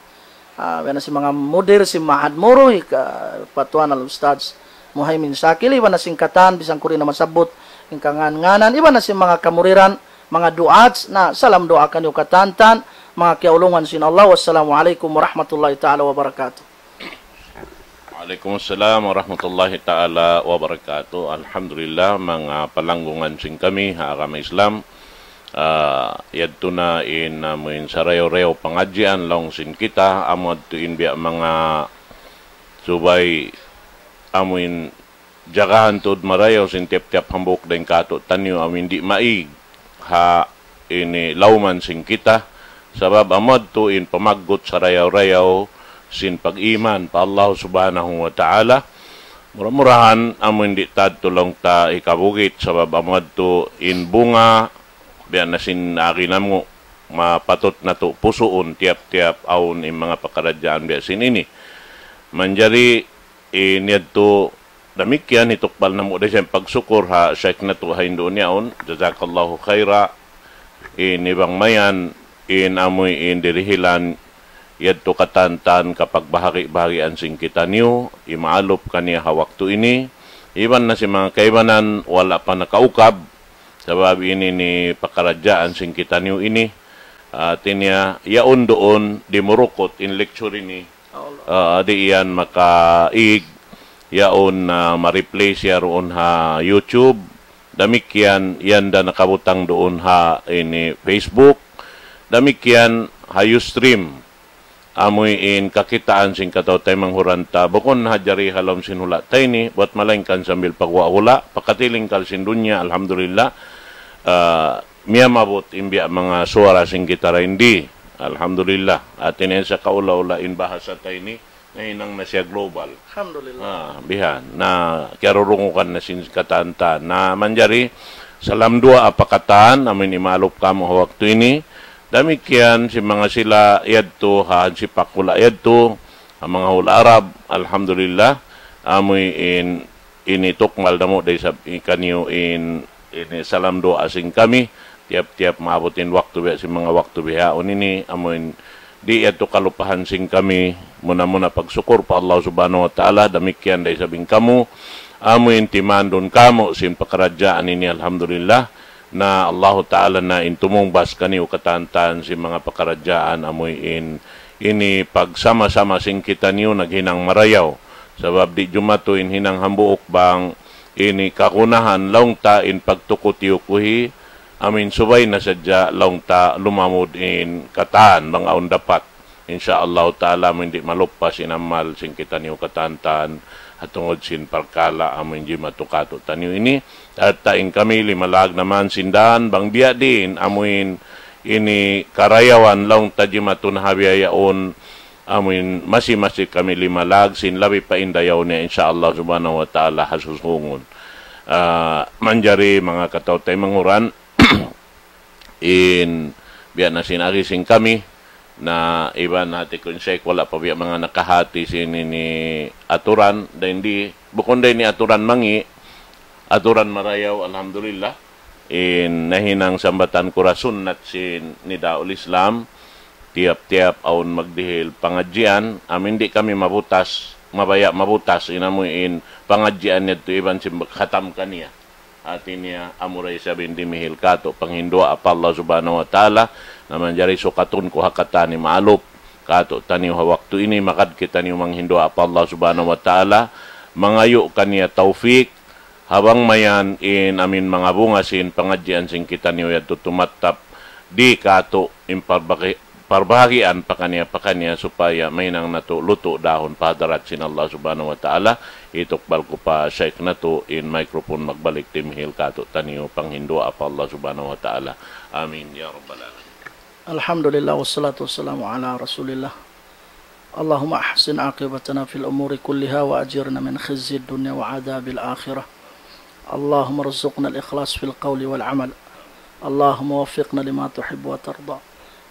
ah, biya' na sin manga mudir sin Ma'had Muru, hi ka-, patuan Al-Ustadz Muhaimin Shakil, iban na sin katan, bisan ku di' na masabbut in kangan-nganan, iban na sin manga kamuriran, manga du'at, na salam duwaa kaniyu katan-katan, manga kiyaulungan sin Allah. Wassalamu alaikum warahmatullahi ta'ala wabarakatuh. Waalaikumsalam warahmatullahi ta'ala wabarakatuh. Alhamdulillah, manga palanggungan sin kami ha agama Islam. Ah, yadtu na in, ah, amu in sarayaw-rayaw pangadjian laung sin kita, amu yadtu in biya' manga subay, amu in jagahan tuud marayaw sin tiyap-tiyap hambuuk dayn katu'taniyu amu in di' maig ha ini lawman sin kita, sabab amu yadtu in pamaggut sarayaw-rayaw sin pag-iman pa Allah Subhanahu wa Ta'ala. Mura-murahan amu in di' ta tuud laung ta hikabugit, sabab amu yadtu in bunga, biya' na sin agi namu', mapatut natu' pusuun tiyap-tiyap awn in manga pakaradjaan biya' sin ini. Manjari in yadtu damikkiyan hitukbal namu' da isab in pagsukur ha Shaykh natu' ha Indonesia yaun. Jazakallahu khaira. Ini bang mayan in amu in dirihilan yadtu katan-katan kapagbahagi-bahagian sin kitaniyu, imaalup kaniya ha waktu ini. Iban na sin manga kaibanan wala' pa nakaukab, sabab ini in pakaradjaan sin kitaniyu ini. Ah, hati niya, yaun duun di Murukut in lecture ini. Ah, di' yan makaig, yaun, ah, ma-replay siya duun ha YouTube. Damikkiyan, yan da nakabutang duun ha ini Facebook. Damikkiyan ha Ustream. amuin kakitaan sin kataw-taymanghuran ta, bukun na hadja di ha lawm sin hula' ta ini, buwat malaingkan sambil paguwa' hula', pakatilingkal sin dunya, alhamdulillah. Ah, miyamabut in biya' manga suwara sin kita dayn di. Alhamdulillah. Hati niya sa kaula-ula in bahasa ta ini, nahinang na siya global. Alhamdulillah. Ah, bihan. Na, kiyarurungugan na sin katan ta. Na, manjari, salam duwaa pa katan, amuin imalup kamu' ha waktu ini. Damikkiyan sin manga sila yadtu, ha hansipak hula' yadtu, ha manga hula' Arab, alhamdulillah, amuin ini tukmal namu' da isab kaniyu in, ini salam duwaa sin kami, tiyap-tiyap maabut in waktu biya' sin manga waktu bihaun ini, amuin di' yadtu kalupahan sin kami, muna-muna pagsukur pa Allah Subhanahu wa Ta'ala, damikkiyan da isab in kamu, amuin timandun kamu' sin pakaradjaan ini, alhamdulillah, na Allahu Ta'ala na in tumungbas kaniyu katan-katan sin manga pakaradjaan amuin ini pagsama-sama sin kitaniyu naghinang marayaw. Sabab di' jumatu in hinang hambuuk bang ini kagunahan laung ta in pagtuku-tiyukuhi, amuin subay na sadja laung ta lumamud in katan bang awn dapat. Insya Allah Ta'ala, amuin di' maluppas in amal sin kitaniyu katan-katan, ha tungud sin parkala' amuin jimatu katu'taniyu ini. At ta in kami limalag naman sin dan, bang biya' diin, amuin ini karayawan laung ta jimatu na ha biya' yaun, amuin masi-masi kami limalag sin labi pa in dayaw niya, insya Allah Subhanahu wa Ta'ala, ha susungun. Ah, manjari manga kataw-taymanghuran, in biya' na sin agi sin kami, na iban hati ku in Sheikh wala' pa biya' manga nakahati sin ini aturan, dayn di, bukun dayn di aturan mangi', aturan marayaw, alhamdulillah. In nahinang sambatan ku da sunnat sin Nidaul Islam, tiyap-tiyap awn magdihil pangadjian, amuin di' kami mabutas, mabaya' mabutas, in amuin pangadjian yadtu iban sin khatam kaniya. Hati niya, amura isab in dimihil katu' panghinduwaa pa Allah Subhanahu wa Ta'ala, na manjari sukatun ku ha katan ini malup katu'taniyu ha waktu ini, magad kitaniyu manghinduwaa pa Allah Subhanahu wa Ta'ala, mangayu' kaniya tawfik, ha bang mayan in amuin manga bunga sin pangadjian sin kitaniyu yadtu tumattap di katu' in parbaki-, parbahagian pakaniya-pakaniya supaya mahinang natu' lutu' dahun pa hadarat sin Allah Subhanahu wa Ta'ala. Itukbal ku pa Sheikh natu' in microphone magbalik timihil katu'taniyu panghinduwaa pa Allah Subhanahu wa Ta'ala. Amin ya rabbal alamin. الحمد لله والصلاة والسلام على رسول الله. اللهم أحسن عاقبتنا في الأمور كلها وأجرنا من خزي الدنيا وعذاب الآخرة. اللهم ارزقنا الإخلاص في القول والعمل. اللهم وفقنا لما تحب وترضى.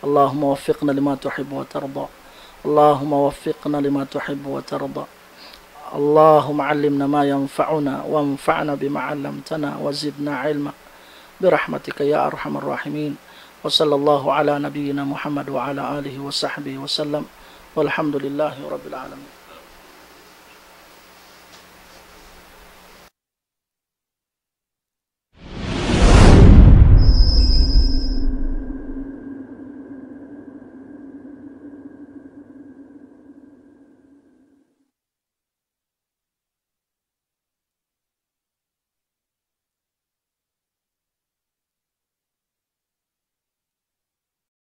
اللهم وفقنا لما تحب وترضى. اللهم وفقنا لما تحب وترضى. اللهم علمنا ما ينفعنا وانفعنا بما علمتنا وزدنا علما برحمتك يا أرحم الراحمين. وصلى الله على نبينا محمد وعلى آله وصحبه وسلم. والحمد لله رب العالمين.